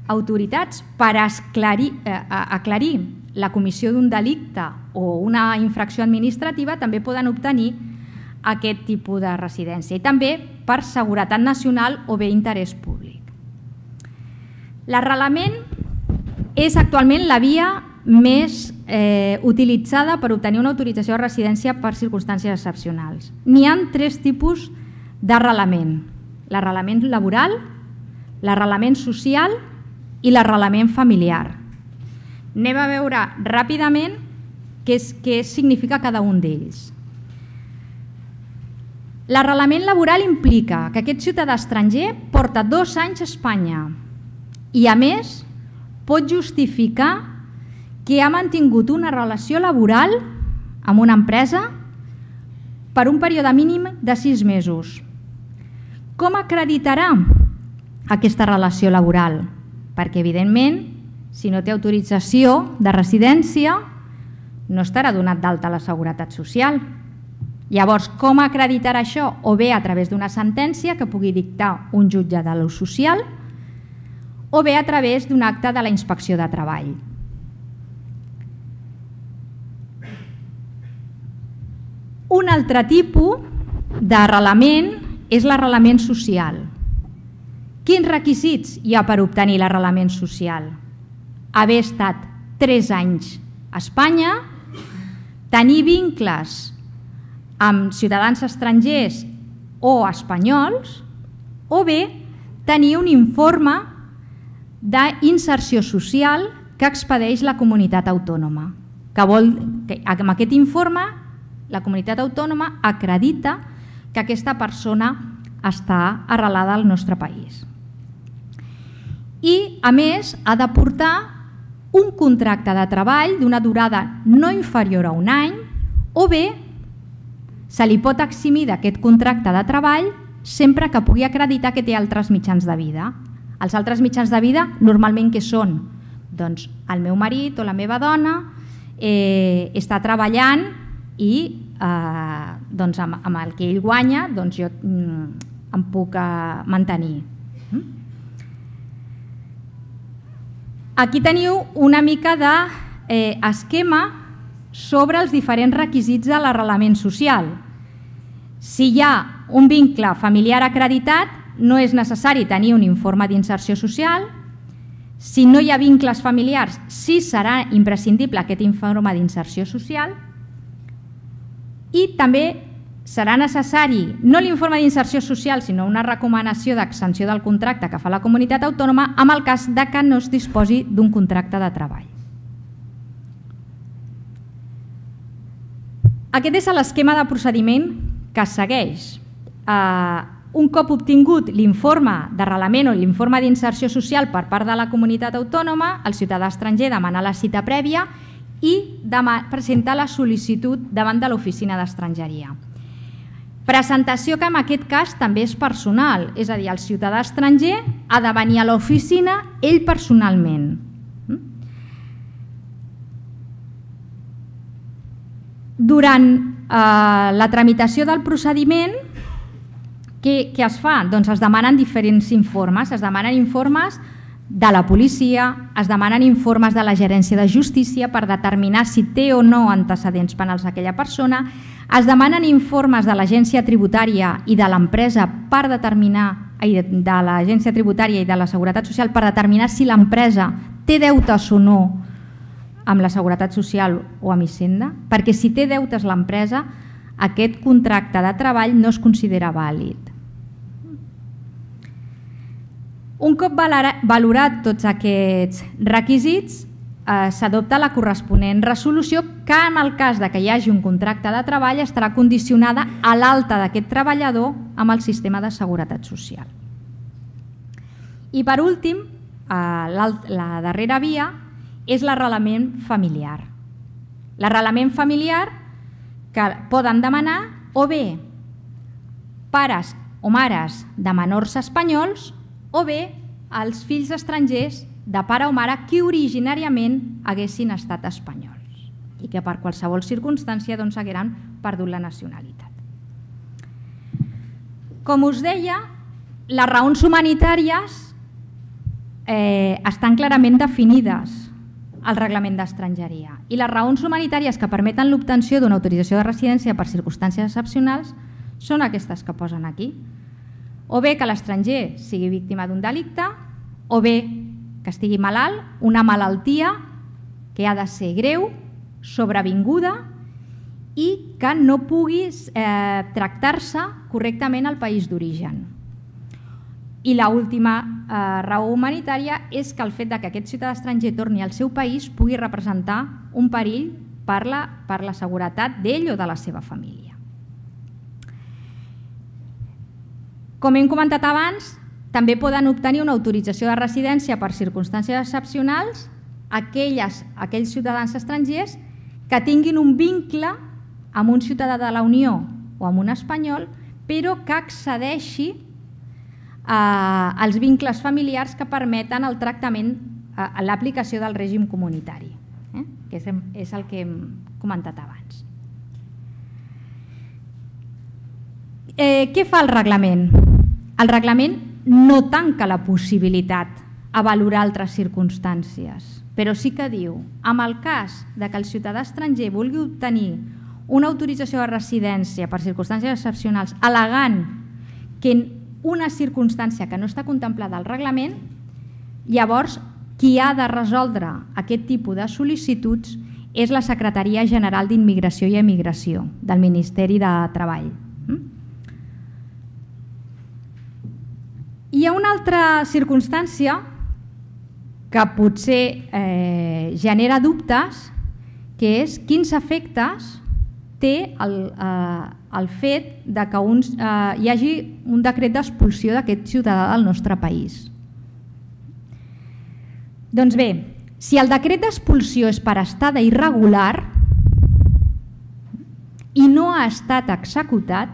autoritats per esclarir, eh, aclarir la comissió d'un delicte o una infracció administrativa també poden obtenir aquest tipus de residència i també per seguretat nacional o bé interès públic. L'arrelament és actualment la via més eh, utilitzada per obtenir una autorització de residència per circumstàncies excepcionals. N'hi ha tres tipus d'arrelament: l'arrelament laboral, l'arrelament social i l'arrelament familiar. Anem a veure ràpidament què, és, què significa cada un d'ells. L'arrelament laboral implica que aquest ciutadà estranger porta dos anys a Espanya i, a més, pot justificar que ha mantingut una relació laboral amb una empresa per un període mínim de sis mesos. Com acreditarà aquesta relació laboral? Perquè, evidentment, si no té autorització de residència, no estarà donat d'alta a la Seguretat Social. Llavors, com acreditarà això? O bé a través d'una sentència que pugui dictar un jutge de l'ús social, o bé a través d'un acte de la Inspecció de Treball. Un altre tipus d'arrelament és l'arrelament social. Quins requisits hi ha per obtenir l'arrelament social? Haver estat tres anys a Espanya, tenir vincles amb ciutadans estrangers o espanyols, o bé tenir un informe d'inserció social que expedeix la comunitat autònoma. Que vol, que amb aquest informe la comunitat autònoma acredita que aquesta persona està arrelada al nostre país. I, a més, ha de portar un contracte de treball d'una durada no inferior a un any, o bé se li pot eximir d'aquest contracte de treball sempre que pugui acreditar que té altres mitjans de vida. Els altres mitjans de vida normalment què són? Doncs el meu marit o la meva dona eh, està treballant i eh, doncs amb, amb el que ell guanya doncs jo mm, em puc eh, mantenir. Aquí teniu una mica d'esquema eh, sobre els diferents requisits de l'arrelament social. Si hi ha un vincle familiar acreditat, no és necessari tenir un informe d'inserció social. Si no hi ha vincles familiars, sí serà imprescindible aquest informe d'inserció social. I també serà necessari, no l'informe d'inserció social, sinó una recomanació d'extensió del contracte que fa la comunitat autònoma en el cas de que no es disposi d'un contracte de treball. Aquest és l'esquema de procediment que es segueix. Un cop obtingut l'informe d'arrelament o l'informe d'inserció social per part de la comunitat autònoma, el ciutadà estranger demana la cita prèvia i presenta la sol·licitud davant de l'oficina d'estrangeria. Presentació que en aquest cas també és personal, és a dir, el ciutadà estranger ha de venir a l'oficina ell personalment. Durant eh, la tramitació del procediment, què, què es fa? Doncs es demanen diferents informes, es demanen informes de la policia, es demanen informes de la gerència de justícia per determinar si té o no antecedents penals aquella persona, es demanen informes de l'agència tributària i de l'empresa per determinar, de l'agència tributària i de la Seguretat Social per determinar si l'empresa té deutes o no amb la Seguretat Social o amb Hisenda, perquè si té deutes l'empresa, aquest contracte de treball no es considera vàlid. Un cop valorat tots aquests requisits, s'adopta la corresponent resolució que en el cas que hi hagi un contracte de treball estarà condicionada a l'alta d'aquest treballador amb el sistema de seguretat social. I per últim, la darrera via és l'arrelament familiar. L'arrelament familiar que poden demanar o bé pares o mares de menors espanyols o bé els fills estrangers de pare o mare que originàriament haguessin estat espanyols i que per qualsevol circumstància hagueren perdut la nacionalitat. Com us deia, les raons humanitàries estan clarament definides al reglament d'estrangeria i les raons humanitàries que permeten l'obtenció d'una autorització de residència per circumstàncies excepcionals són aquestes que posen aquí. O bé que l'estranger sigui víctima d'un delicte, o bé que estigui malalt, una malaltia que ha de ser greu, sobrevinguda i que no pugui eh, tractar-se correctament al país d'origen. I l'última eh, raó humanitària és que el fet que aquest ciutadà estranger torni al seu país pugui representar un perill per la, per la seguretat d'ell o de la seva família. Com hem comentat abans, també poden obtenir una autorització de residència per circumstàncies excepcionals aquelles, aquells ciutadans estrangers que tinguin un vincle amb un ciutadà de la Unió o amb un espanyol, però que excedeixi eh, els vincles familiars que permeten el tractament, eh, l'aplicació del règim comunitari, eh? que és, és el que hem comentat abans. Eh, què fa el reglament? El reglament no tanca la possibilitat a valorar altres circumstàncies, però sí que diu, en el cas de que el ciutadà estranger vulgui obtenir una autorització de residència per circumstàncies excepcionals al·legant que en una circumstància que no està contemplada al reglament, llavors qui ha de resoldre aquest tipus de sol·licituds és la Secretaria General d'Immigració i Emigració del Ministeri de Treball. Hi ha una altra circumstància que potser eh, genera dubtes, que és quins efectes té el, eh, el fet de que uns, eh, hi hagi un decret d'expulsió d'aquest ciutadà del nostre país. Doncs bé, si el decret d'expulsió és per estada irregular i no ha estat executat,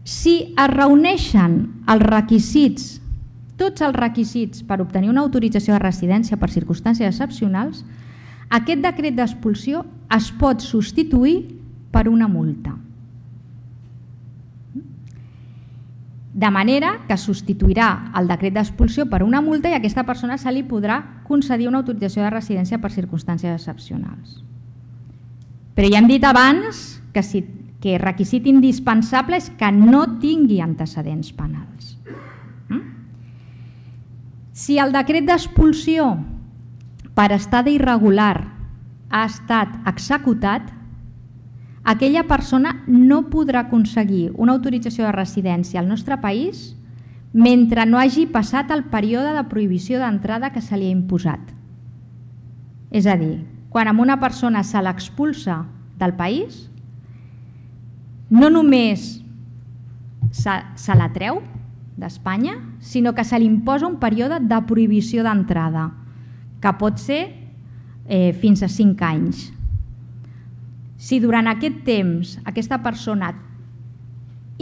si es reuneixen els requisits, tots els requisits per obtenir una autorització de residència per circumstàncies excepcionals, aquest decret d'expulsió es pot substituir per una multa. De manera que substituirà el decret d'expulsió per una multa i a aquesta persona se li podrà concedir una autorització de residència per circumstàncies excepcionals. Però ja hem dit abans que si que requisit indispensable és que no tingui antecedents penals. Si el decret d'expulsió per estada irregular ha estat executat, aquella persona no podrà aconseguir una autorització de residència al nostre país mentre no hagi passat el període de prohibició d'entrada que se li ha imposat. És a dir, quan a una persona se l'expulsa del país, no només se, se la treu d'Espanya, sinó que se li imposa un període de prohibició d'entrada, que pot ser eh, fins a cinc anys. Si durant aquest temps aquesta persona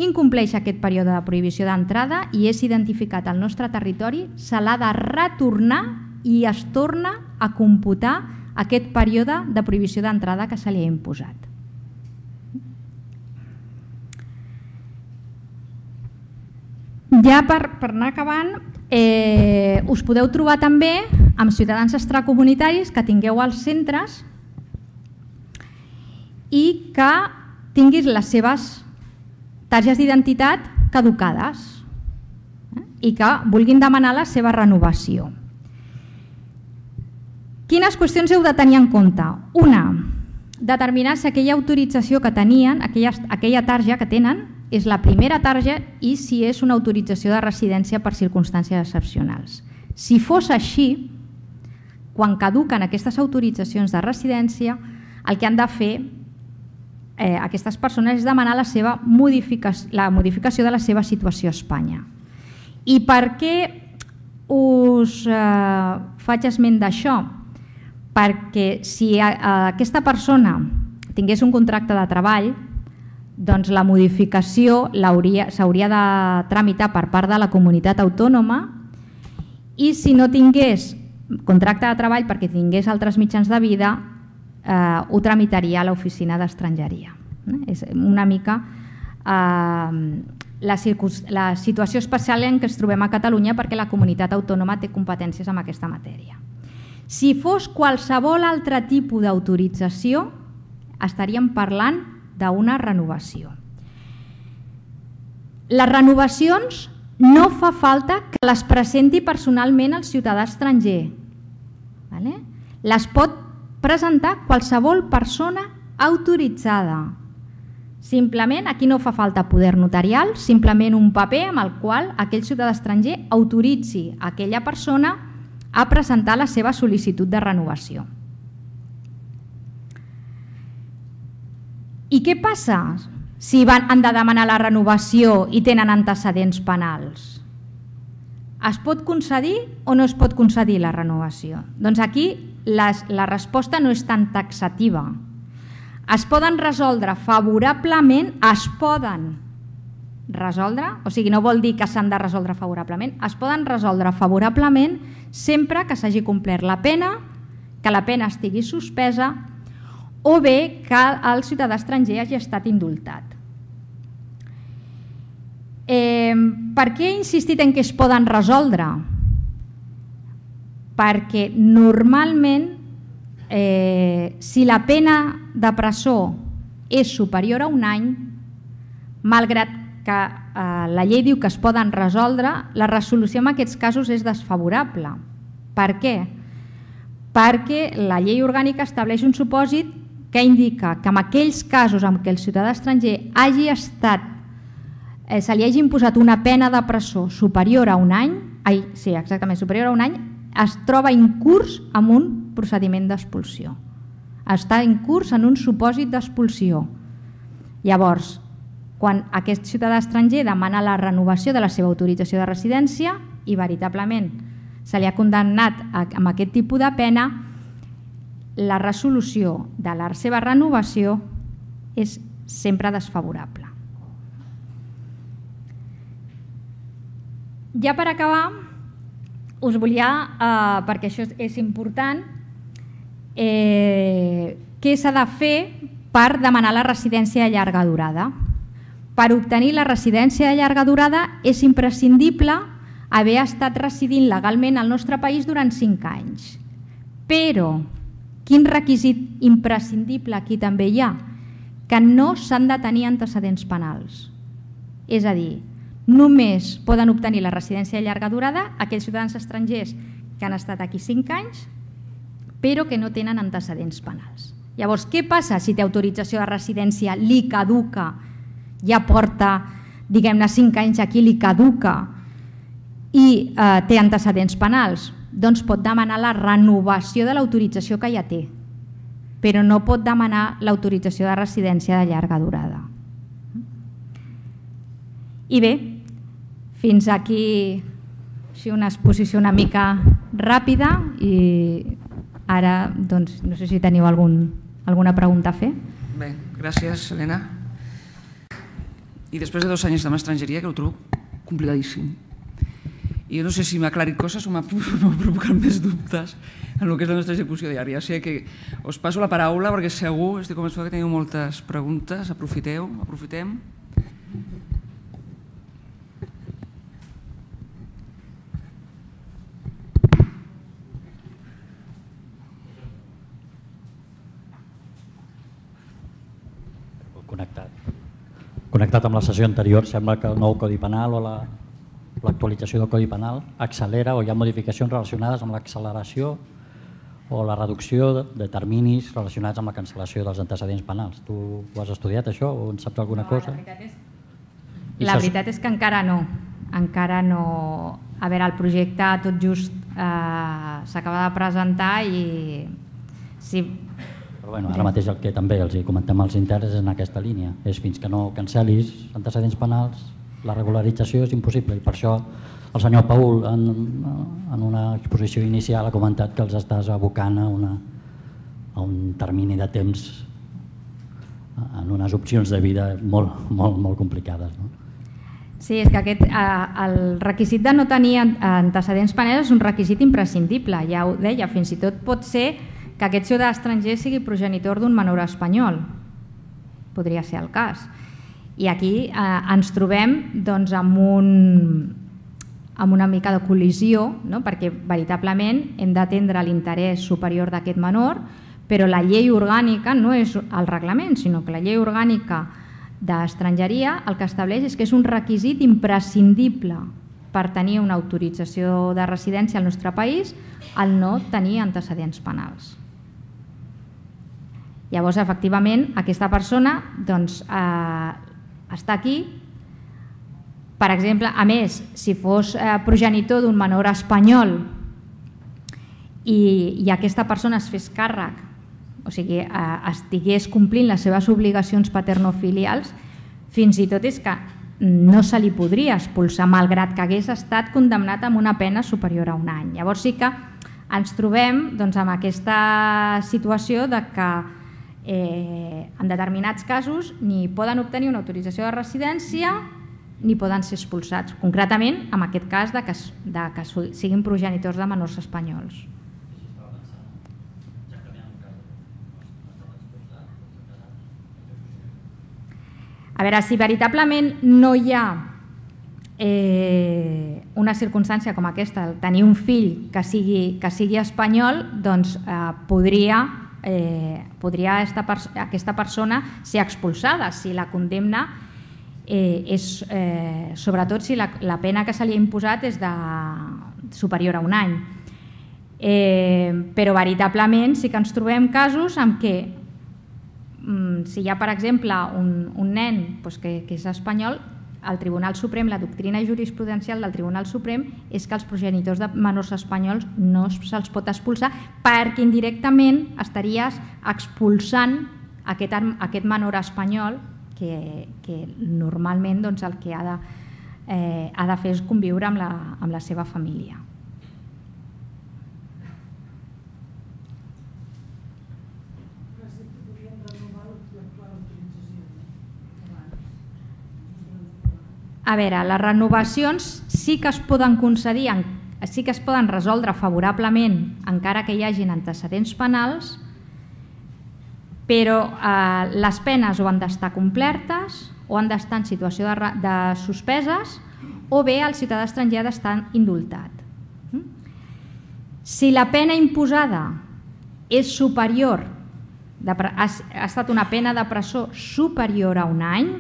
incompleix aquest període de prohibició d'entrada i és identificat al nostre territori, se l'ha de retornar i es torna a computar aquest període de prohibició d'entrada que se li ha imposat. Ja per, per anar acabant, eh, us podeu trobar també amb ciutadans extracomunitaris que tingueu als centres i que tinguis les seves targetes d'identitat caducades eh, i que vulguin demanar la seva renovació. Quines qüestions heu de tenir en compte? Una, determinar si aquella autorització que tenien, aquella, aquella targeta que tenen, és la primera targeta i si és una autorització de residència per circumstàncies excepcionals. Si fos així, quan caduquen aquestes autoritzacions de residència, el que han de fer eh, aquestes persones és demanar la, seva modificació, la modificació de la seva situació a Espanya. I per què us eh, faig esment d'això? Perquè si a, a aquesta persona tingués un contracte de treball, doncs la modificació s'hauria de tramitar per part de la comunitat autònoma i si no tingués contracte de treball perquè tingués altres mitjans de vida, eh, ho tramitaria a l'oficina d'estrangeria. És una mica eh, la, la situació especial en què ens trobem a Catalunya perquè la comunitat autònoma té competències en aquesta matèria. Si fos qualsevol altre tipus d'autorització, estaríem parlant d'una renovació. Les renovacions no fa falta que les presenti personalment el ciutadà estranger. Les pot presentar qualsevol persona autoritzada. Simplement, aquí no fa falta poder notarial, simplement un paper amb el qual aquell ciutadà estranger autoritzi a aquella persona a presentar la seva sol·licitud de renovació. I què passa si han de demanar la renovació i tenen antecedents penals? Es pot concedir o no es pot concedir la renovació? Doncs aquí les, la resposta no és tan taxativa. es poden resoldre favorablement, es poden resoldre, o sigui, no vol dir que s'han de resoldre favorablement, es poden resoldre favorablement sempre que s'hagi complert la pena, que la pena estigui suspesa o bé que el ciutadà estranger hagi estat indultat. Eh, per què he insistit en que es poden resoldre? Perquè normalment eh, si la pena de presó és superior a un any, malgrat que eh, la llei diu que es poden resoldre, la resolució en aquests casos és desfavorable. Per què? Perquè la llei orgànica estableix un supòsit que indica que en aquells casos en què el ciutadà estranger hagi estat, eh, se li hagi imposat una pena de presó superior a un any, ai, sí, exactament, superior a un any, es troba incurs en un procediment d'expulsió. Està incurs en un supòsit d'expulsió. Llavors, quan aquest ciutadà estranger demana la renovació de la seva autorització de residència i veritablement se li ha condemnat amb aquest tipus de pena, la resolució de la seva renovació és sempre desfavorable. Ja per acabar, us volia, eh, perquè això és important, eh, què s'ha de fer per demanar la residència de llarga durada. Per obtenir la residència de llarga durada és imprescindible haver estat residint legalment al nostre país durant cinc anys. Però, quin requisit imprescindible aquí també hi ha? Que no s'han de tenir antecedents penals. És a dir, només poden obtenir la residència de llarga durada aquells ciutadans estrangers que han estat aquí cinc anys però que no tenen antecedents penals. Llavors, què passa si té autorització de residència, li caduca, ja porta, diguem-ne, cinc anys aquí, li caduca i eh, té antecedents penals? Doncs pot demanar la renovació de l'autorització que ja té, però no pot demanar l'autorització de residència de llarga durada. I bé, fins aquí una exposició una mica ràpida i ara doncs, no sé si teniu algun, alguna pregunta a fer. Bé, gràcies, Helena. I després de dos anys de estrangeria, que ho trobo complicadíssim. I jo no sé si m'ha aclarit coses o m'ha provocat més dubtes en el que és la nostra execució diària. O sigui que us passo la paraula perquè segur, estic convençuda que teniu moltes preguntes. Aprofiteu, aprofitem. Connectat. Connectat amb la sessió anterior, sembla que el nou Codi Penal o l'actualització del Codi Penal accelera o hi ha modificacions relacionades amb l'acceleració o la reducció de terminis relacionats amb la cancel·lació dels antecedents penals. Tu ho has estudiat, això, o en saps alguna cosa? La veritat és, la veritat és que encara no. Encara no... A veure, el projecte tot just eh, s'acaba de presentar i... Sí. Però bueno, ara mateix el que també els comentem als interns és en aquesta línia. És fins que no cancelis antecedents penals, la regularització és impossible i per això el senyor Paul en, en una exposició inicial ha comentat que els estàs abocant a, una, a un termini de temps en unes opcions de vida molt, molt, molt complicades. No? Sí, és que aquest, eh, el requisit de no tenir antecedents penals és un requisit imprescindible, ja ho deia, fins i tot pot ser que aquest ciutadà estranger sigui progenitor d'un menor espanyol. Podria ser el cas. I aquí eh, ens trobem doncs, amb, un, amb una mica de col·lisió, no? Perquè veritablement hem d'atendre l'interès superior d'aquest menor, però la llei orgànica no és el reglament, sinó que la llei orgànica d'estrangeria el que estableix és que és un requisit imprescindible per tenir una autorització de residència al nostre país el no tenir antecedents penals. Llavors, efectivament, aquesta persona doncs, eh, està aquí. Per exemple, a més, si fos eh, progenitor d'un menor espanyol i, i aquesta persona es fes càrrec, o sigui, eh, estigués complint les seves obligacions paternofilials, fins i tot és que no se li podria expulsar, malgrat que hagués estat condemnat amb una pena superior a un any. Llavors sí que ens trobem doncs, amb aquesta situació de que en determinats casos ni poden obtenir una autorització de residència ni poden ser expulsats, concretament en aquest cas de que, de que siguin progenitors de menors espanyols. A veure, si veritablement no hi ha eh, una circumstància com aquesta, tenir un fill que sigui, que sigui espanyol, doncs eh, podria, eh, podria esta, aquesta persona ser expulsada si la condemna eh, és, eh, sobretot si la, la pena que se li ha imposat és de, superior a un any. Eh, però veritablement sí que ens trobem casos en què si hi ha, per exemple, un, un nen doncs, que, que és espanyol, el Tribunal Suprem, la doctrina jurisprudencial del Tribunal Suprem és que els progenitors de menors espanyols no se'ls pot expulsar perquè indirectament estaries expulsant aquest, aquest menor espanyol que, que normalment doncs, el que ha de, eh, ha de fer és conviure amb la, amb la seva família. A veure, les renovacions sí que es poden concedir, sí que es poden resoldre favorablement encara que hi hagin antecedents penals, però eh, les penes o han d'estar complertes o han d'estar en situació de, de suspeses o bé el ciutadà estranger ha d'estar indultat. Si la pena imposada és superior, de, ha, ha estat una pena de presó superior a un any,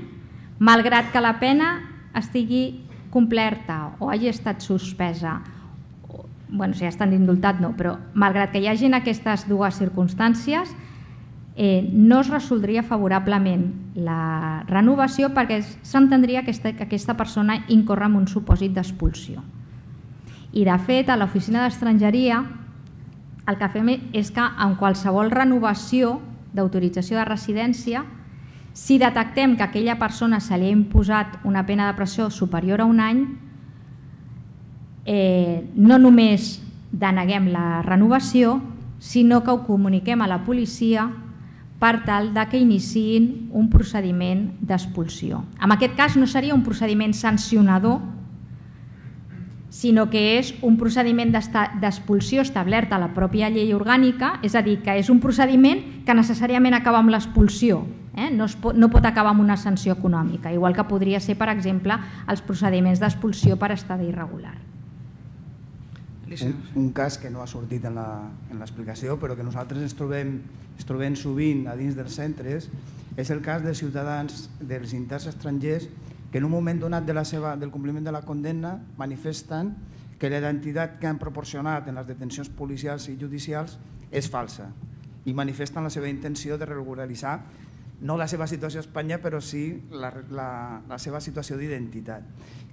malgrat que la pena estigui complerta o hagi estat suspesa, bueno, si ha estat indultat no, però malgrat que hi hagin aquestes dues circumstàncies, eh, no es resoldria favorablement la renovació perquè s'entendria que aquesta, que aquesta persona incorre en un supòsit d'expulsió. I de fet, a l'Oficina d'Estrangeria el que fem és que en qualsevol renovació d'autorització de residència, si detectem que a aquella persona se li ha imposat una pena de presó superior a un any, eh, no només deneguem la renovació, sinó que ho comuniquem a la policia per tal de que iniciïn un procediment d'expulsió. En aquest cas no seria un procediment sancionador, sinó que és un procediment d'expulsió establert a la pròpia llei orgànica, és a dir, que és un procediment que necessàriament acaba amb l'expulsió, eh? no, es pot, no pot acabar amb una sanció econòmica, igual que podria ser, per exemple, els procediments d'expulsió per estadi irregular. Un, un cas que no ha sortit en l'explicació, però que nosaltres ens trobem, ens trobem sovint a dins dels centres, és el cas de ciutadans dels interns estrangers que en un moment donat de la seva, del compliment de la condemna manifesten que la identitat que han proporcionat en les detencions policials i judicials és falsa i manifesten la seva intenció de regularitzar no la seva situació a Espanya, però sí la, la, la seva situació d'identitat.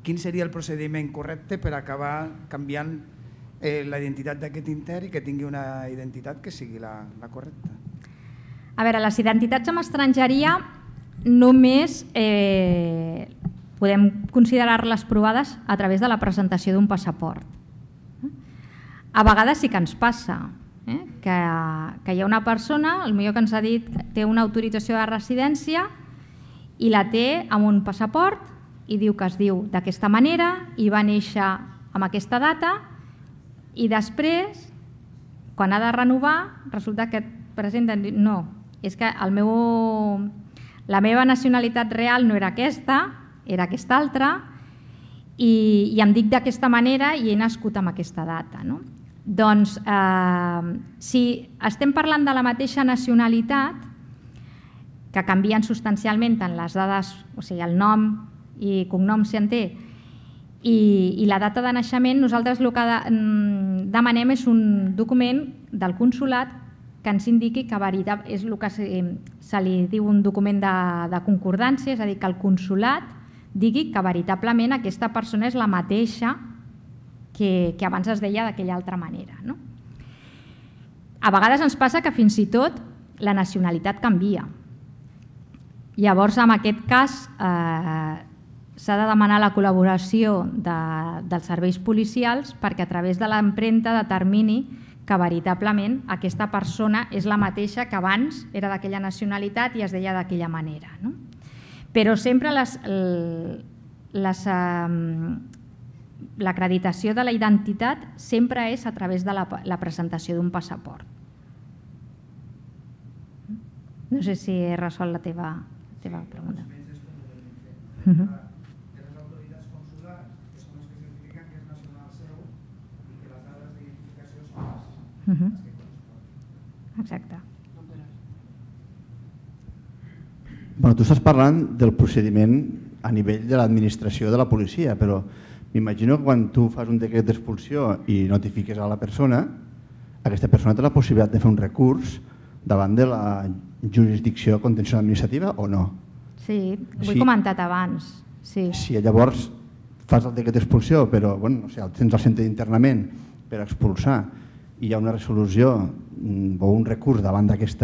Quin seria el procediment correcte per acabar canviant eh, la identitat d'aquest intern i que tingui una identitat que sigui la, la correcta? A veure, les identitats amb estrangeria només eh, podem considerar-les provades a través de la presentació d'un passaport. A vegades sí que ens passa eh, que, que hi ha una persona, potser que ens ha dit que té una autorització de residència i la té amb un passaport i diu que es diu d'aquesta manera i va néixer amb aquesta data i després, quan ha de renovar, resulta que presenten... No, és que el meu... la meva nacionalitat real no era aquesta, era aquesta altra, i, i em dic d'aquesta manera i he nascut amb aquesta data. No? Doncs, eh, si estem parlant de la mateixa nacionalitat, que canvien substancialment tant les dades, o sigui, el nom i cognom si en té, i, i la data de naixement, nosaltres el que de, demanem és un document del consolat que ens indiqui que veritat, és el que se, se li diu un document de, de concordància, és a dir, que el consolat digui que veritablement aquesta persona és la mateixa que, que abans es deia d'aquella altra manera. No? A vegades ens passa que fins i tot la nacionalitat canvia. Llavors, en aquest cas, eh, s'ha de demanar la col·laboració de, dels serveis policials perquè a través de l'empremta determini que veritablement aquesta persona és la mateixa que abans era d'aquella nacionalitat i es deia d'aquella manera. No? Però sempre l'acreditació de la identitat sempre és a través de la, la presentació d'un passaport. No sé si he resolt la teva, la teva pregunta. Uh -huh. Uh -huh. Exacte. Bueno, tu estàs parlant del procediment a nivell de l'administració de la policia, però m'imagino que quan tu fas un decret d'expulsió i notifiques a la persona, aquesta persona té la possibilitat de fer un recurs davant de la jurisdicció contenciosa administrativa o no? Sí, ho he si, comentat abans. Sí. Si llavors fas el decret d'expulsió, però bueno, no sé, tens el centre d'internament per expulsar i hi ha una resolució o un recurs davant d'aquest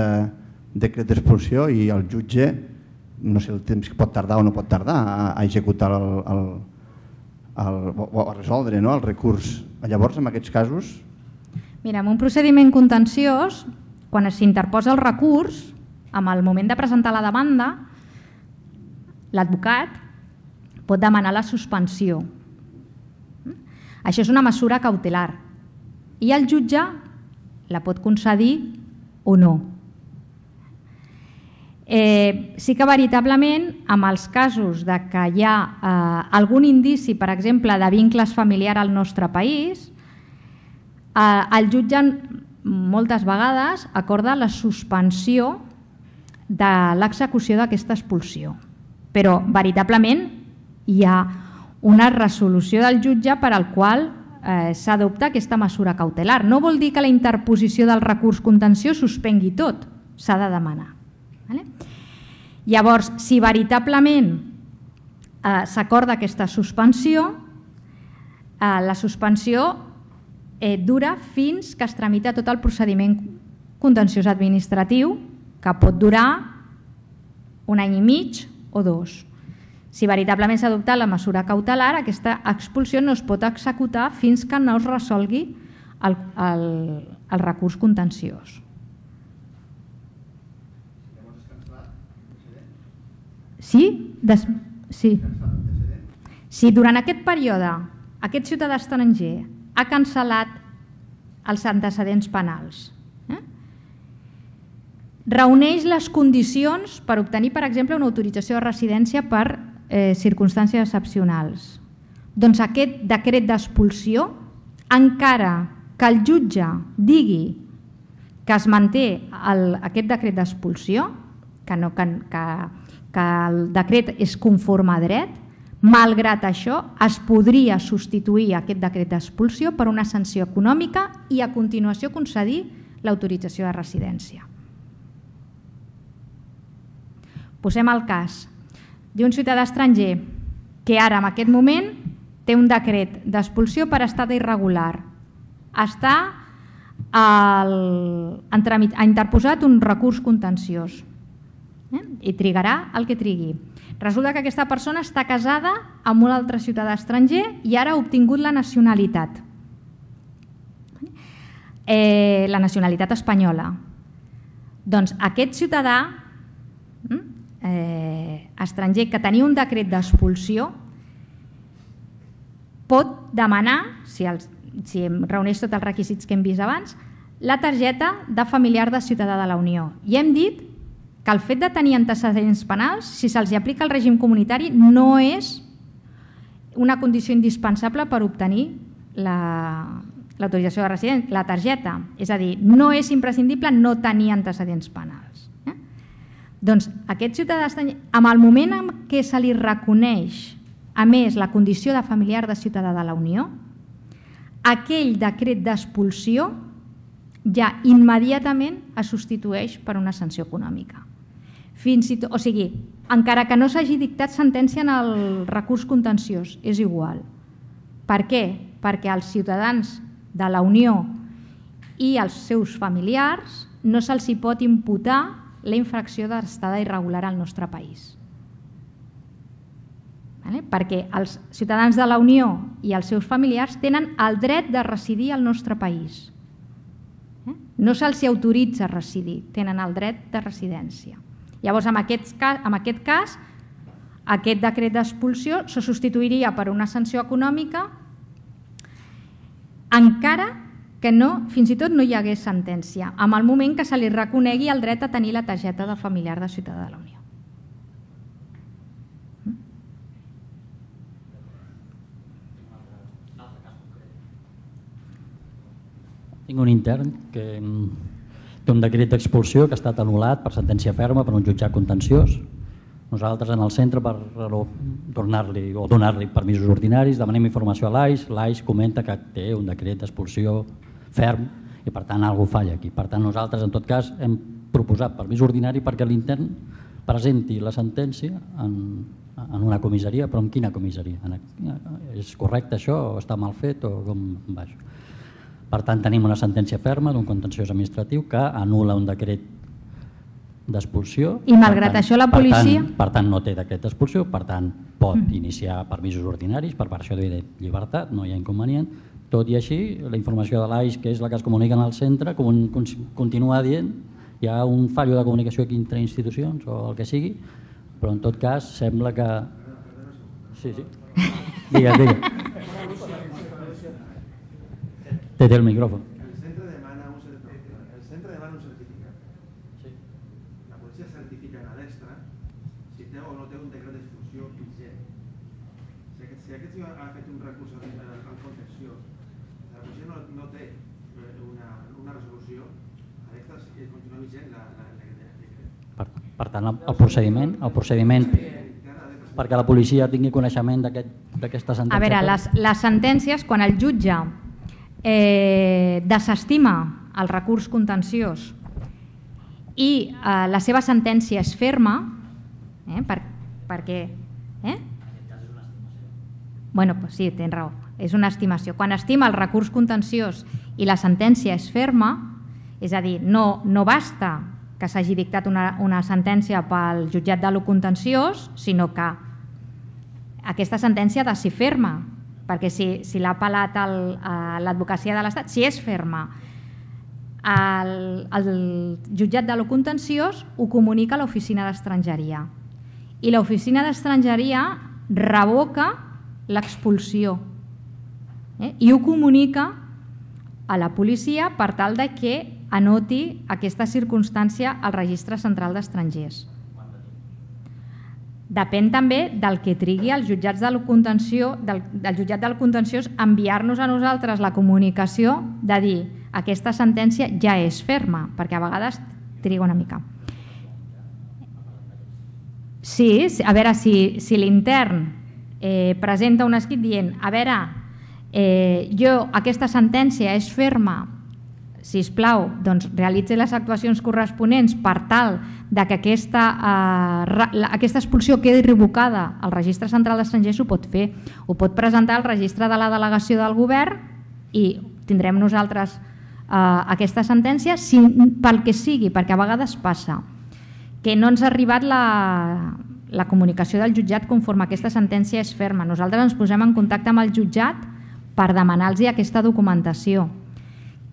decret d'expulsió i el jutge, no sé el temps que pot tardar o no pot tardar a, a executar el, el, el, o a resoldre no, el recurs. Llavors, en aquests casos... Mira, en un procediment contenciós, quan s'interposa el recurs, en el moment de presentar la demanda, l'advocat pot demanar la suspensió. Això és una mesura cautelar i el jutge la pot concedir o no. Eh, sí que veritablement, en els casos de que hi ha eh, algun indici, per exemple, de vincles familiars al nostre país, eh, el jutge moltes vegades acorda la suspensió de l'execució d'aquesta expulsió. Però veritablement hi ha una resolució del jutge per al qual eh, s'adopta aquesta mesura cautelar. No vol dir que la interposició del recurs contenciós suspengui tot, s'ha de demanar. Vale? Llavors, si veritablement eh, s'acorda aquesta suspensió, eh, la suspensió eh, dura fins que es tramita tot el procediment contenciós administratiu, que pot durar un any i mig o dos. Si veritablement s'ha adoptat la mesura cautelar, aquesta expulsió no es pot executar fins que no es resolgui el, el, el recurs contenciós. Sí? Des... sí. Si durant aquest període aquest ciutadà estranger ha cancel·lat els antecedents penals, eh? reuneix les condicions per obtenir, per exemple, una autorització de residència per eh, circumstàncies excepcionals, doncs aquest decret d'expulsió, encara que el jutge digui que es manté el, aquest decret d'expulsió, que, no, que, que que el decret és conforme a dret, malgrat això es podria substituir aquest decret d'expulsió per una sanció econòmica i a continuació concedir l'autorització de residència. Posem el cas d'un ciutadà estranger que ara en aquest moment té un decret d'expulsió per estat irregular. Està al, en tràmit, ha interposat un recurs contenciós i trigarà el que trigui. Resulta que aquesta persona està casada amb un altre ciutadà estranger i ara ha obtingut la nacionalitat. Eh, la nacionalitat espanyola. Doncs aquest ciutadà eh, estranger que tenia un decret d'expulsió pot demanar, si, els, si reuneix tots els requisits que hem vist abans, la targeta de familiar de ciutadà de la Unió. I hem dit que el fet de tenir antecedents penals, si se'ls aplica el règim comunitari, no és una condició indispensable per obtenir l'autorització la, de residència, la targeta. És a dir, no és imprescindible no tenir antecedents penals. Eh? Doncs aquest ciutadà, en el moment en què se li reconeix, a més, la condició de familiar de ciutadà de la Unió, aquell decret d'expulsió ja immediatament es substitueix per una sanció econòmica. Fins i tot, o sigui, encara que no s'hagi dictat sentència en el recurs contenciós, és igual. Per què? Perquè als ciutadans de la Unió i als seus familiars no se'ls hi pot imputar la infracció d'estada irregular al nostre país. Vale? Perquè els ciutadans de la Unió i els seus familiars tenen el dret de residir al nostre país. no se'ls autoritza a residir, tenen el dret de residència. Llavors, en aquest cas, en aquest cas aquest decret d'expulsió se substituiria per una sanció econòmica encara que no, fins i tot no hi hagués sentència, en el moment que se li reconegui el dret a tenir la targeta de familiar de ciutadà de la Unió. Tinc un intern que té un decret d'expulsió que ha estat anul·lat per sentència ferma per un jutjat contenciós. Nosaltres en el centre per tornar-li o donar-li permisos ordinaris demanem informació a l'A I S, l'A I S comenta que té un decret d'expulsió ferm i per tant alguna cosa falla aquí. Per tant nosaltres en tot cas hem proposat permís ordinari perquè l'intern presenti la sentència en, en una comissaria, però en quina comissaria? És correcte això o està mal fet o com va això? Per tant tenim una sentència ferma d'un contenciós administratiu que anul·la un decret d'expulsió. I malgrat això la policia... Per tant no té decret d'expulsió, per tant pot iniciar permisos ordinaris per versió de llibertat, no hi ha inconvenient. Tot i així, la informació de l'A I S, que és la que es comunica al centre, continua dient hi ha un fallo de comunicació aquí entre institucions o el que sigui, però en tot cas sembla que... Sí, sí. Digues, digues. Té el micròfon. El centre demana un certificat. La policia certifica a l'extra si té o no té un decret d'expulsió vigent. Si aquest senyor ha fet un recurs al contenciós, la policia no té una resolució, a l'extra continua vigent el decret. Per tant, el procediment, el procediment perquè la policia tingui coneixement d'aquesta sentència... A veure, les sentències, quan el jutge Eh, desestima el recurs contenciós i eh, la seva sentència és ferma, eh, per, perquè... Eh? Bueno, pues sí, tens raó, és una estimació. Quan estima el recurs contenciós i la sentència és ferma, és a dir, no, no basta que s'hagi dictat una, una sentència pel jutjat de lo contenciós, sinó que aquesta sentència ha de ser ferma, perquè si, si l'ha apel·lat l'advocacia de l'Estat, si és ferma, el, el jutjat de lo contenciós ho comunica a l'oficina d'estrangeria i l'oficina d'estrangeria revoca l'expulsió eh? i ho comunica a la policia per tal de que anoti aquesta circumstància al registre central d'estrangers. Depèn també del que trigui els jutjats del contenció, del, del jutjat del contenciós enviar-nos a nosaltres la comunicació de dir aquesta sentència ja és ferma, perquè a vegades triga una mica. Sí, a veure, si, si l'intern eh, presenta un escrit dient a veure, eh, jo aquesta sentència és ferma, sisplau, doncs realitzi les actuacions corresponents per tal de que aquesta, eh, aquesta expulsió quedi revocada al registre central d'estrangers, ho pot fer. Ho pot presentar al registre de la delegació del govern i tindrem nosaltres eh, aquesta sentència si, pel que sigui, perquè a vegades passa que no ens ha arribat la, la comunicació del jutjat conforme aquesta sentència és ferma. Nosaltres ens posem en contacte amb el jutjat per demanar-los aquesta documentació.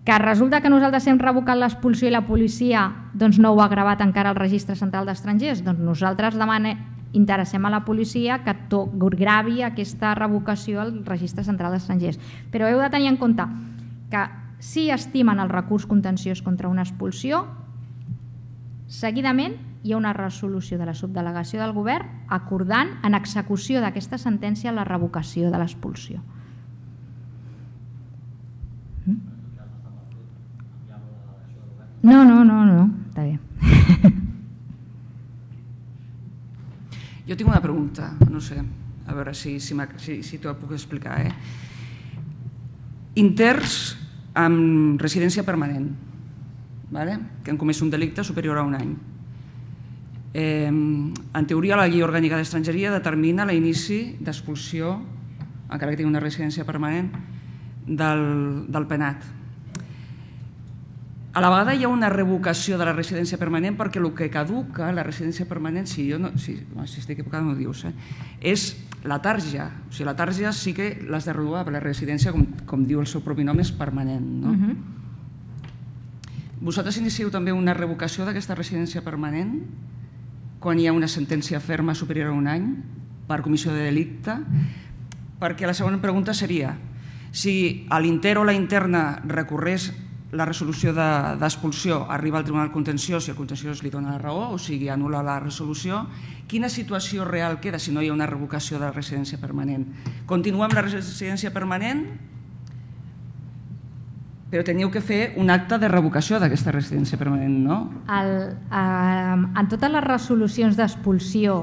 Que resulta que nosaltres hem revocat l'expulsió i la policia doncs no ho ha gravat encara al registre central d'estrangers, doncs nosaltres demane, interessem a la policia que to, gravi aquesta revocació al registre central d'estrangers. Però heu de tenir en compte que si estimen el recurs contenciós contra una expulsió, seguidament hi ha una resolució de la subdelegació del govern acordant en execució d'aquesta sentència la revocació de l'expulsió. No, no, no, no, està bé. Jo tinc una pregunta, no sé, a veure si, si, si, si t'ho puc explicar. Eh? Interns amb residència permanent, vale? Que han comès un delicte superior a un any. Eh, en teoria, la llei orgànica d'estrangeria determina l'inici d'expulsió, encara que tingui una residència permanent, del, del penat. A la vegada hi ha una revocació de la residència permanent perquè el que caduca, la residència permanent, si jo no, si, si estic equivocada no ho dius, eh, és la tarja. O sigui, la tarja sí que l'has de renovar, però la residència, com, com diu el seu propi nom, és permanent. No? Uh-huh. Vosaltres inicieu també una revocació d'aquesta residència permanent quan hi ha una sentència ferma superior a un any per comissió de delicte? Perquè la segona pregunta seria si a l'inter o la interna recorrés la resolució d'expulsió, arriba al Tribunal Contenciós i el Contenciós li dona la raó, o sigui, anul·la la resolució, quina situació real queda si no hi ha una revocació de la residència permanent? Continua amb la residència permanent, però teniu que fer un acte de revocació d'aquesta residència permanent, no? El, eh, en totes les resolucions d'expulsió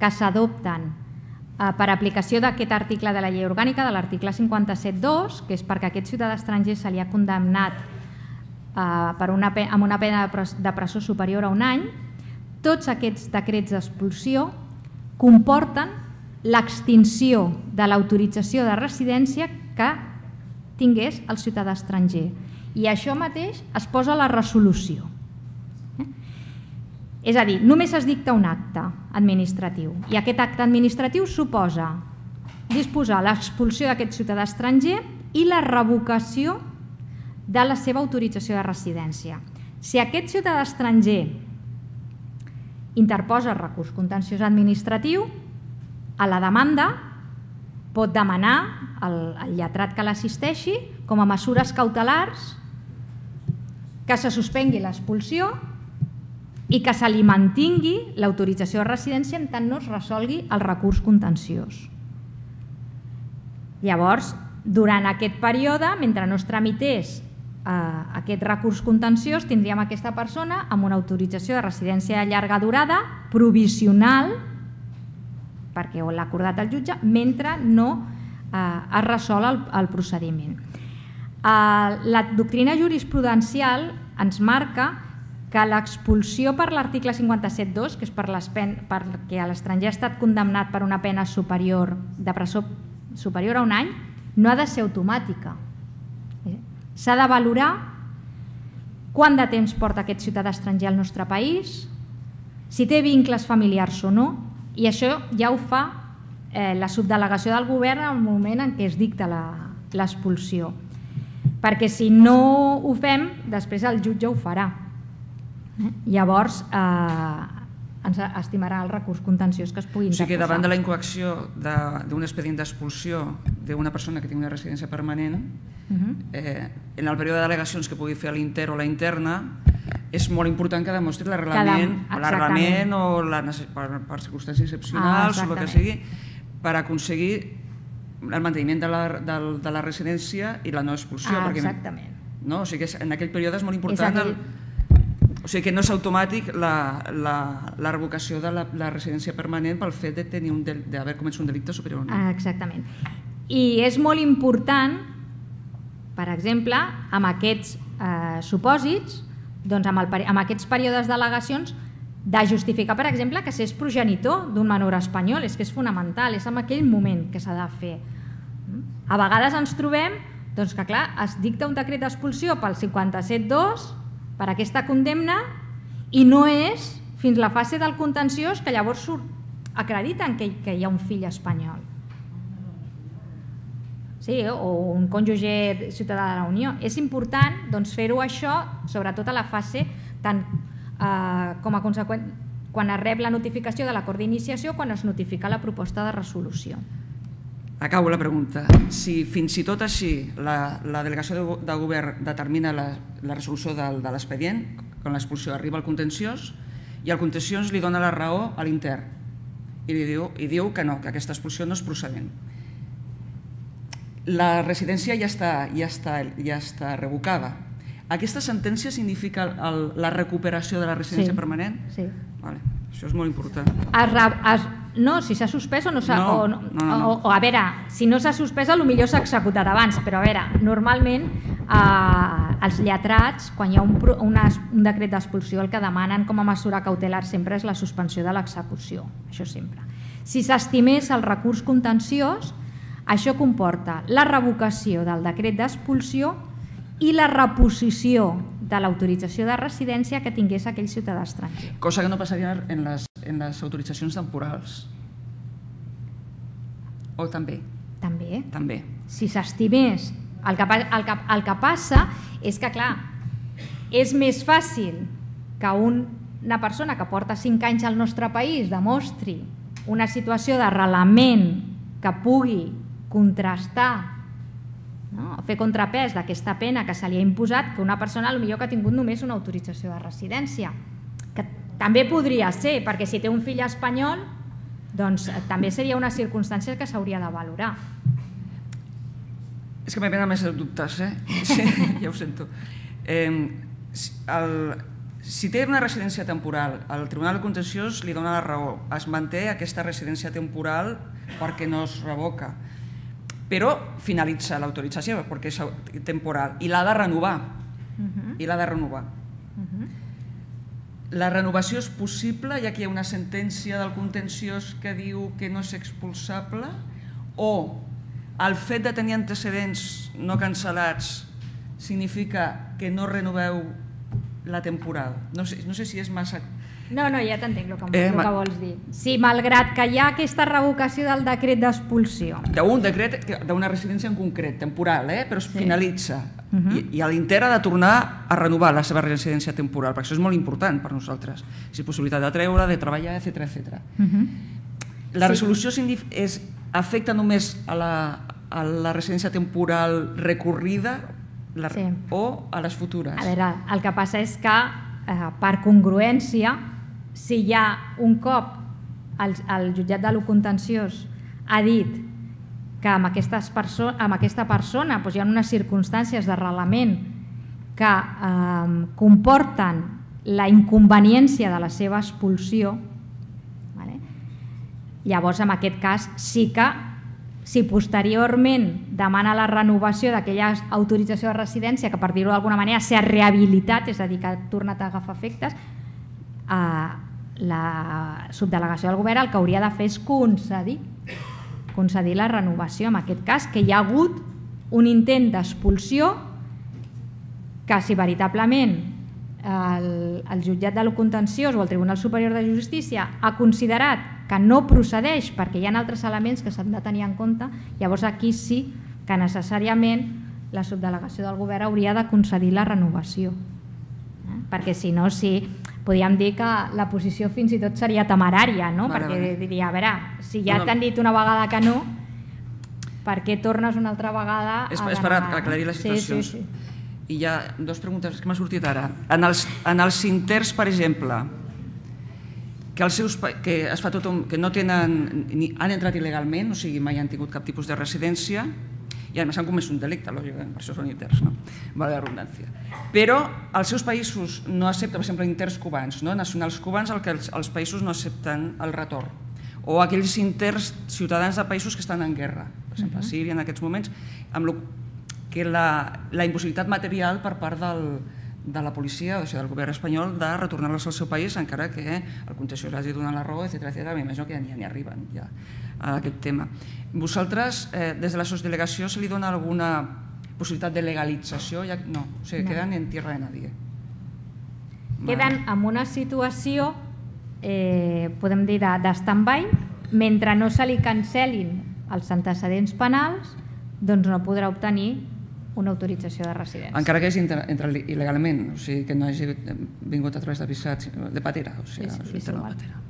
que s'adopten eh, per aplicació d'aquest article de la llei orgànica, de l'article cinquanta-set dos, que és perquè a aquest ciutadà estranger se li ha condemnat eh, per una, amb una pena de presó superior a un any, tots aquests decrets d'expulsió comporten l'extinció de l'autorització de residència que tingués el ciutadà estranger. I això mateix es posa a la resolució. Eh? És a dir, només es dicta un acte administratiu i aquest acte administratiu suposa disposar l'expulsió d'aquest ciutadà estranger i la revocació de la seva autorització de residència. Si aquest ciutadà estranger interposa recurs contenciós administratiu, a la demanda pot demanar al, al lletrat que l'assisteixi com a mesures cautelars que se suspengui l'expulsió i que se li mantingui l'autorització de residència en tant no es resolgui el recurs contenciós. Llavors, durant aquest període, mentre no es tramités eh, aquest recurs contenciós, tindríem aquesta persona amb una autorització de residència de llarga durada provisional, perquè l'ha acordat el jutge, mentre no eh, es resol el, el procediment. Eh, la doctrina jurisprudencial ens marca que l'expulsió per l'article cinquanta-set dos, que és per pen, perquè l'estranger ha estat condemnat per una pena superior de presó superior a un any, no ha de ser automàtica. S'ha de valorar quant de temps porta aquest ciutadà estranger al nostre país, si té vincles familiars o no, i això ja ho fa eh, la subdelegació del govern en el moment en què es dicta l'expulsió. Perquè si no ho fem, després el jutge ho farà. Eh? Llavors, eh, ens estimarà el recurs contenciós que es pugui interposar. O sigui que davant de la incoacció d'un expedient d'expulsió d'una persona que tingui una residència permanent, uh-huh. eh, en el període d'al·legacions que pugui fer a l'inter o la interna, és molt important que demostri l'arrelament o la, per, per circumstàncies excepcionals ah, o el que sigui, per aconseguir el manteniment de la, de, de la residència i la no expulsió. Ah, perquè, exactament. No? O sigui que en aquell període és molt important... El, o sigui que no és automàtic la, la, la revocació de la, la residència permanent pel fet de tenir un d'haver comès un delicte superior a un any. Ah, exactament. I és molt important, per exemple, amb aquests eh, supòsits, doncs amb, el, amb aquests períodes d'al·legacions, de justificar, per exemple, que s'és progenitor d'un menor espanyol, és que és fonamental, és en aquell moment que s'ha de fer. A vegades ens trobem doncs, que clar, es dicta un decret d'expulsió pel cinquanta-set dos per aquesta condemna i no és fins la fase del contenciós que llavors acrediten que, que hi ha un fill espanyol. Sí, o un cònjuge ciutadà de la Unió. És important doncs, fer-ho això, sobretot a la fase tant eh, com a conseqüent quan es rep la notificació de l'acord d'iniciació, quan es notifica la proposta de resolució. Acabo la pregunta. Si fins i tot així la, la delegació de, de govern determina la, la resolució de, de l'expedient, quan l'expulsió arriba al contenciós, i el contenciós li dona la raó a l'intern i, li diu, i diu que no, que aquesta expulsió no és procedent. La residència ja està, ja està, ja està revocada. Aquesta sentència significa el, la recuperació de la residència sí, permanent? Sí. Vale. Això és molt important. Es, es, no, si s'ha suspès o no s'ha... No, o, no, no, no. o, o a veure, si no s'ha suspès potser s'ha executat abans, però a veure, normalment eh, els lletrats, quan hi ha un, una, un decret d'expulsió, el que demanen com a mesura cautelar sempre és la suspensió de l'execució, això sempre. Si s'estimés el recurs contenciós, això comporta la revocació del decret d'expulsió i la reposició de l'autorització de residència que tingués aquell ciutadà estranger. Cosa que no passaria en les, en les autoritzacions temporals. O també? També. També. Si s'estimés, el, que, el, que, el que passa és que, clar, és més fàcil que una persona que porta cinc anys al nostre país demostri una situació d'arrelament que pugui contrastar, no? Fer contrapès d'aquesta pena que se li ha imposat que una persona potser que ha tingut només una autorització de residència, que també podria ser, perquè si té un fill espanyol doncs també seria una circumstància que s'hauria de valorar. És que m'he més de dubtes, eh? Sí, ja ho sento. Eh, el, si té una residència temporal, el Tribunal Contenciós li dona la raó, es manté aquesta residència temporal perquè no es revoca, però finalitza l'autorització perquè és temporal i l'ha de renovar. I l'ha de renovar. La renovació és possible, ja que hi ha una sentència del contenciós que diu que no és expulsable, o el fet de tenir antecedents no cancel·lats significa que no renoveu la temporada. No sé, no sé si és massa... No, no, ja t'entenc el que, eh, el que vols dir. Sí, malgrat que hi ha aquesta revocació del decret d'expulsió. D'un decret, d'una residència en concret, temporal, eh? Però es sí. finalitza. Uh -huh. I, I a l'Inter ha de tornar a renovar la seva residència temporal, perquè això és molt important per nosaltres. Si és possibilitat de treure, de treballar, etcètera, etcètera. Uh -huh. La resolució sí. és, afecta només a la, a la residència temporal recorrida la, sí. o a les futures? A veure, el que passa és que, eh, per congruència, si hi ha un cop el, el jutjat de lo contenciós ha dit que amb, perso amb aquesta persona doncs, hi ha unes circumstàncies d'arrelament que eh, comporten la inconveniència de la seva expulsió, vale? Llavors en aquest cas sí que si posteriorment demana la renovació d'aquella autorització de residència que per dir-ho d'alguna manera s'ha rehabilitat, és a dir que ha tornat a agafar efectes, la subdelegació del govern el que hauria de fer és concedir concedir la renovació, en aquest cas que hi ha hagut un intent d'expulsió que si veritablement el, el jutjat de lo contenciós o el Tribunal Superior de Justícia ha considerat que no procedeix perquè hi ha altres elements que s'han de tenir en compte, llavors aquí sí que necessàriament la subdelegació del govern hauria de concedir la renovació, eh? Perquè si no, sí, podríem dir que la posició fins i tot seria temerària, no? Vale, perquè vale. Diria, a veure, si ja no, t'han dit una vegada que no, per què tornes una altra vegada és, a és per aclarir les situacions. Sí, sí, sí. I hi ha dues preguntes que m'ha sortit ara. En els, en els inters, per exemple, que, els seus, que, es fa tot un, que no tenen, ni, han entrat il·legalment, o sigui, mai han tingut cap tipus de residència, i a més han comès un delicte, lògicament, per això són inters, no? Vale la redundància. Però els seus països no accepten, per exemple, inters cubans, no? Nacionals cubans, el que els, els països no accepten el retorn. O aquells inters ciutadans de països que estan en guerra, per exemple, a Síria en aquests moments, amb lo, que la, la impossibilitat material per part del, de la policia, o sigui, del govern espanyol, de retornar-los al seu país, encara que el contenciós hagi donat la raó, etcètera, etcètera. M'imagino que ja n'hi arriben ja a aquest tema. Vosaltres, eh, des de la subdelegació, se li dona alguna possibilitat de legalització? Ja, no, o sigui, no. Queden en tierra de nadie. Queden en una situació, eh, podem dir, de, de stand-by, mentre no se li cancel·lin els antecedents penals, doncs no podrà obtenir una autorització de residència. Encara que hagi entrat il·legalment, o sigui, que no hagi vingut a través de visats de patera, o sigui, sí, sí, sí, de patera.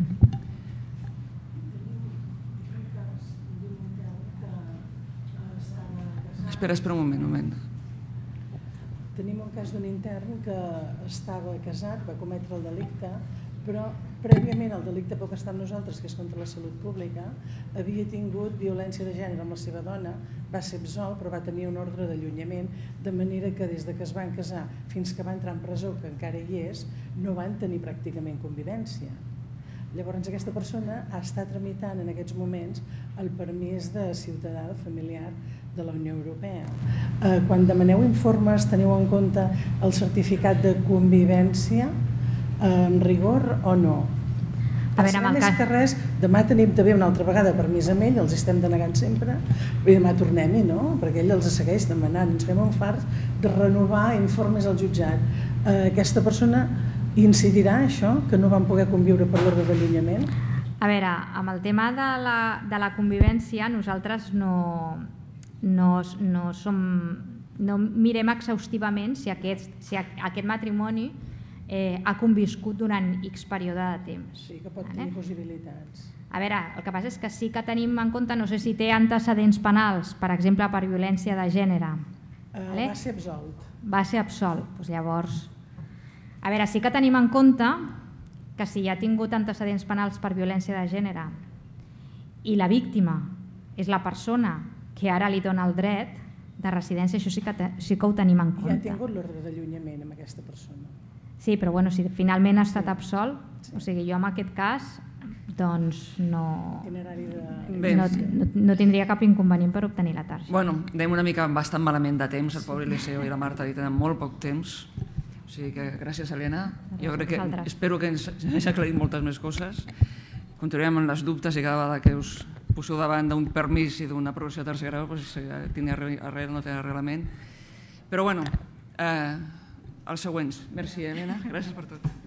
Espera, espera un moment, un moment. Tenim un cas d'un intern que estava casat, va cometre el delicte, però prèviament al delicte pel que està amb nosaltres, que és contra la salut pública, havia tingut violència de gènere amb la seva dona, va ser absolt, però va tenir un ordre d'allunyament, de manera que des que es van casar fins que va entrar en presó, que encara hi és, no van tenir pràcticament convivència. Llavors aquesta persona està tramitant en aquests moments el permís de ciutadà familiar de la Unió Europea. Quan demaneu informes, teniu en compte el certificat de convivència en rigor o no? A veure, amb el cas... que res, demà tenim també una altra vegada permís amb ell, els estem denegant sempre, i demà tornem-hi, no? Perquè ell els segueix demanant, ens fem un fart de renovar informes al jutjat. Aquesta persona incidirà això, que no van poder conviure per l'ordre d'allunyament? A veure, amb el tema de la, de la convivència, nosaltres no, no, no som no mirem exhaustivament si aquest, si aquest matrimoni eh, ha conviscut durant X període de temps. Sí, que pot tenir possibilitats. A veure, el que passa és que sí que tenim en compte, no sé si té antecedents penals, per exemple, per violència de gènere. Uh, vale? Va ser absolt. Va ser absolt. Doncs llavors, a veure, sí que tenim en compte que si ha tingut antecedents penals per violència de gènere i la víctima és la persona que ara li dona el dret de residència, això sí que, te, sí que ho tenim en compte. Ja ha tingut l'ordre d'allunyament amb aquesta persona. Sí, però bueno, si finalment ha estat absolt, sí. O sigui, jo en aquest cas doncs no, de... no, no, no tindria cap inconvenient per obtenir la targeta. Bueno, anem una mica bastant malament de temps, el pobre Eliseo i la Marta hi tenen molt poc temps, o sigui que gràcies, Helena. Jo crec que espero que ens hagi aclarit moltes més coses. Continuarem amb les dubtes i cada vegada que us poseu davant d'un permís i d'una aprovació de tercer grau, doncs, tingui arrel o no té arrelament. Però bueno, eh, els següents. Merci, Helena. Gràcies per tot.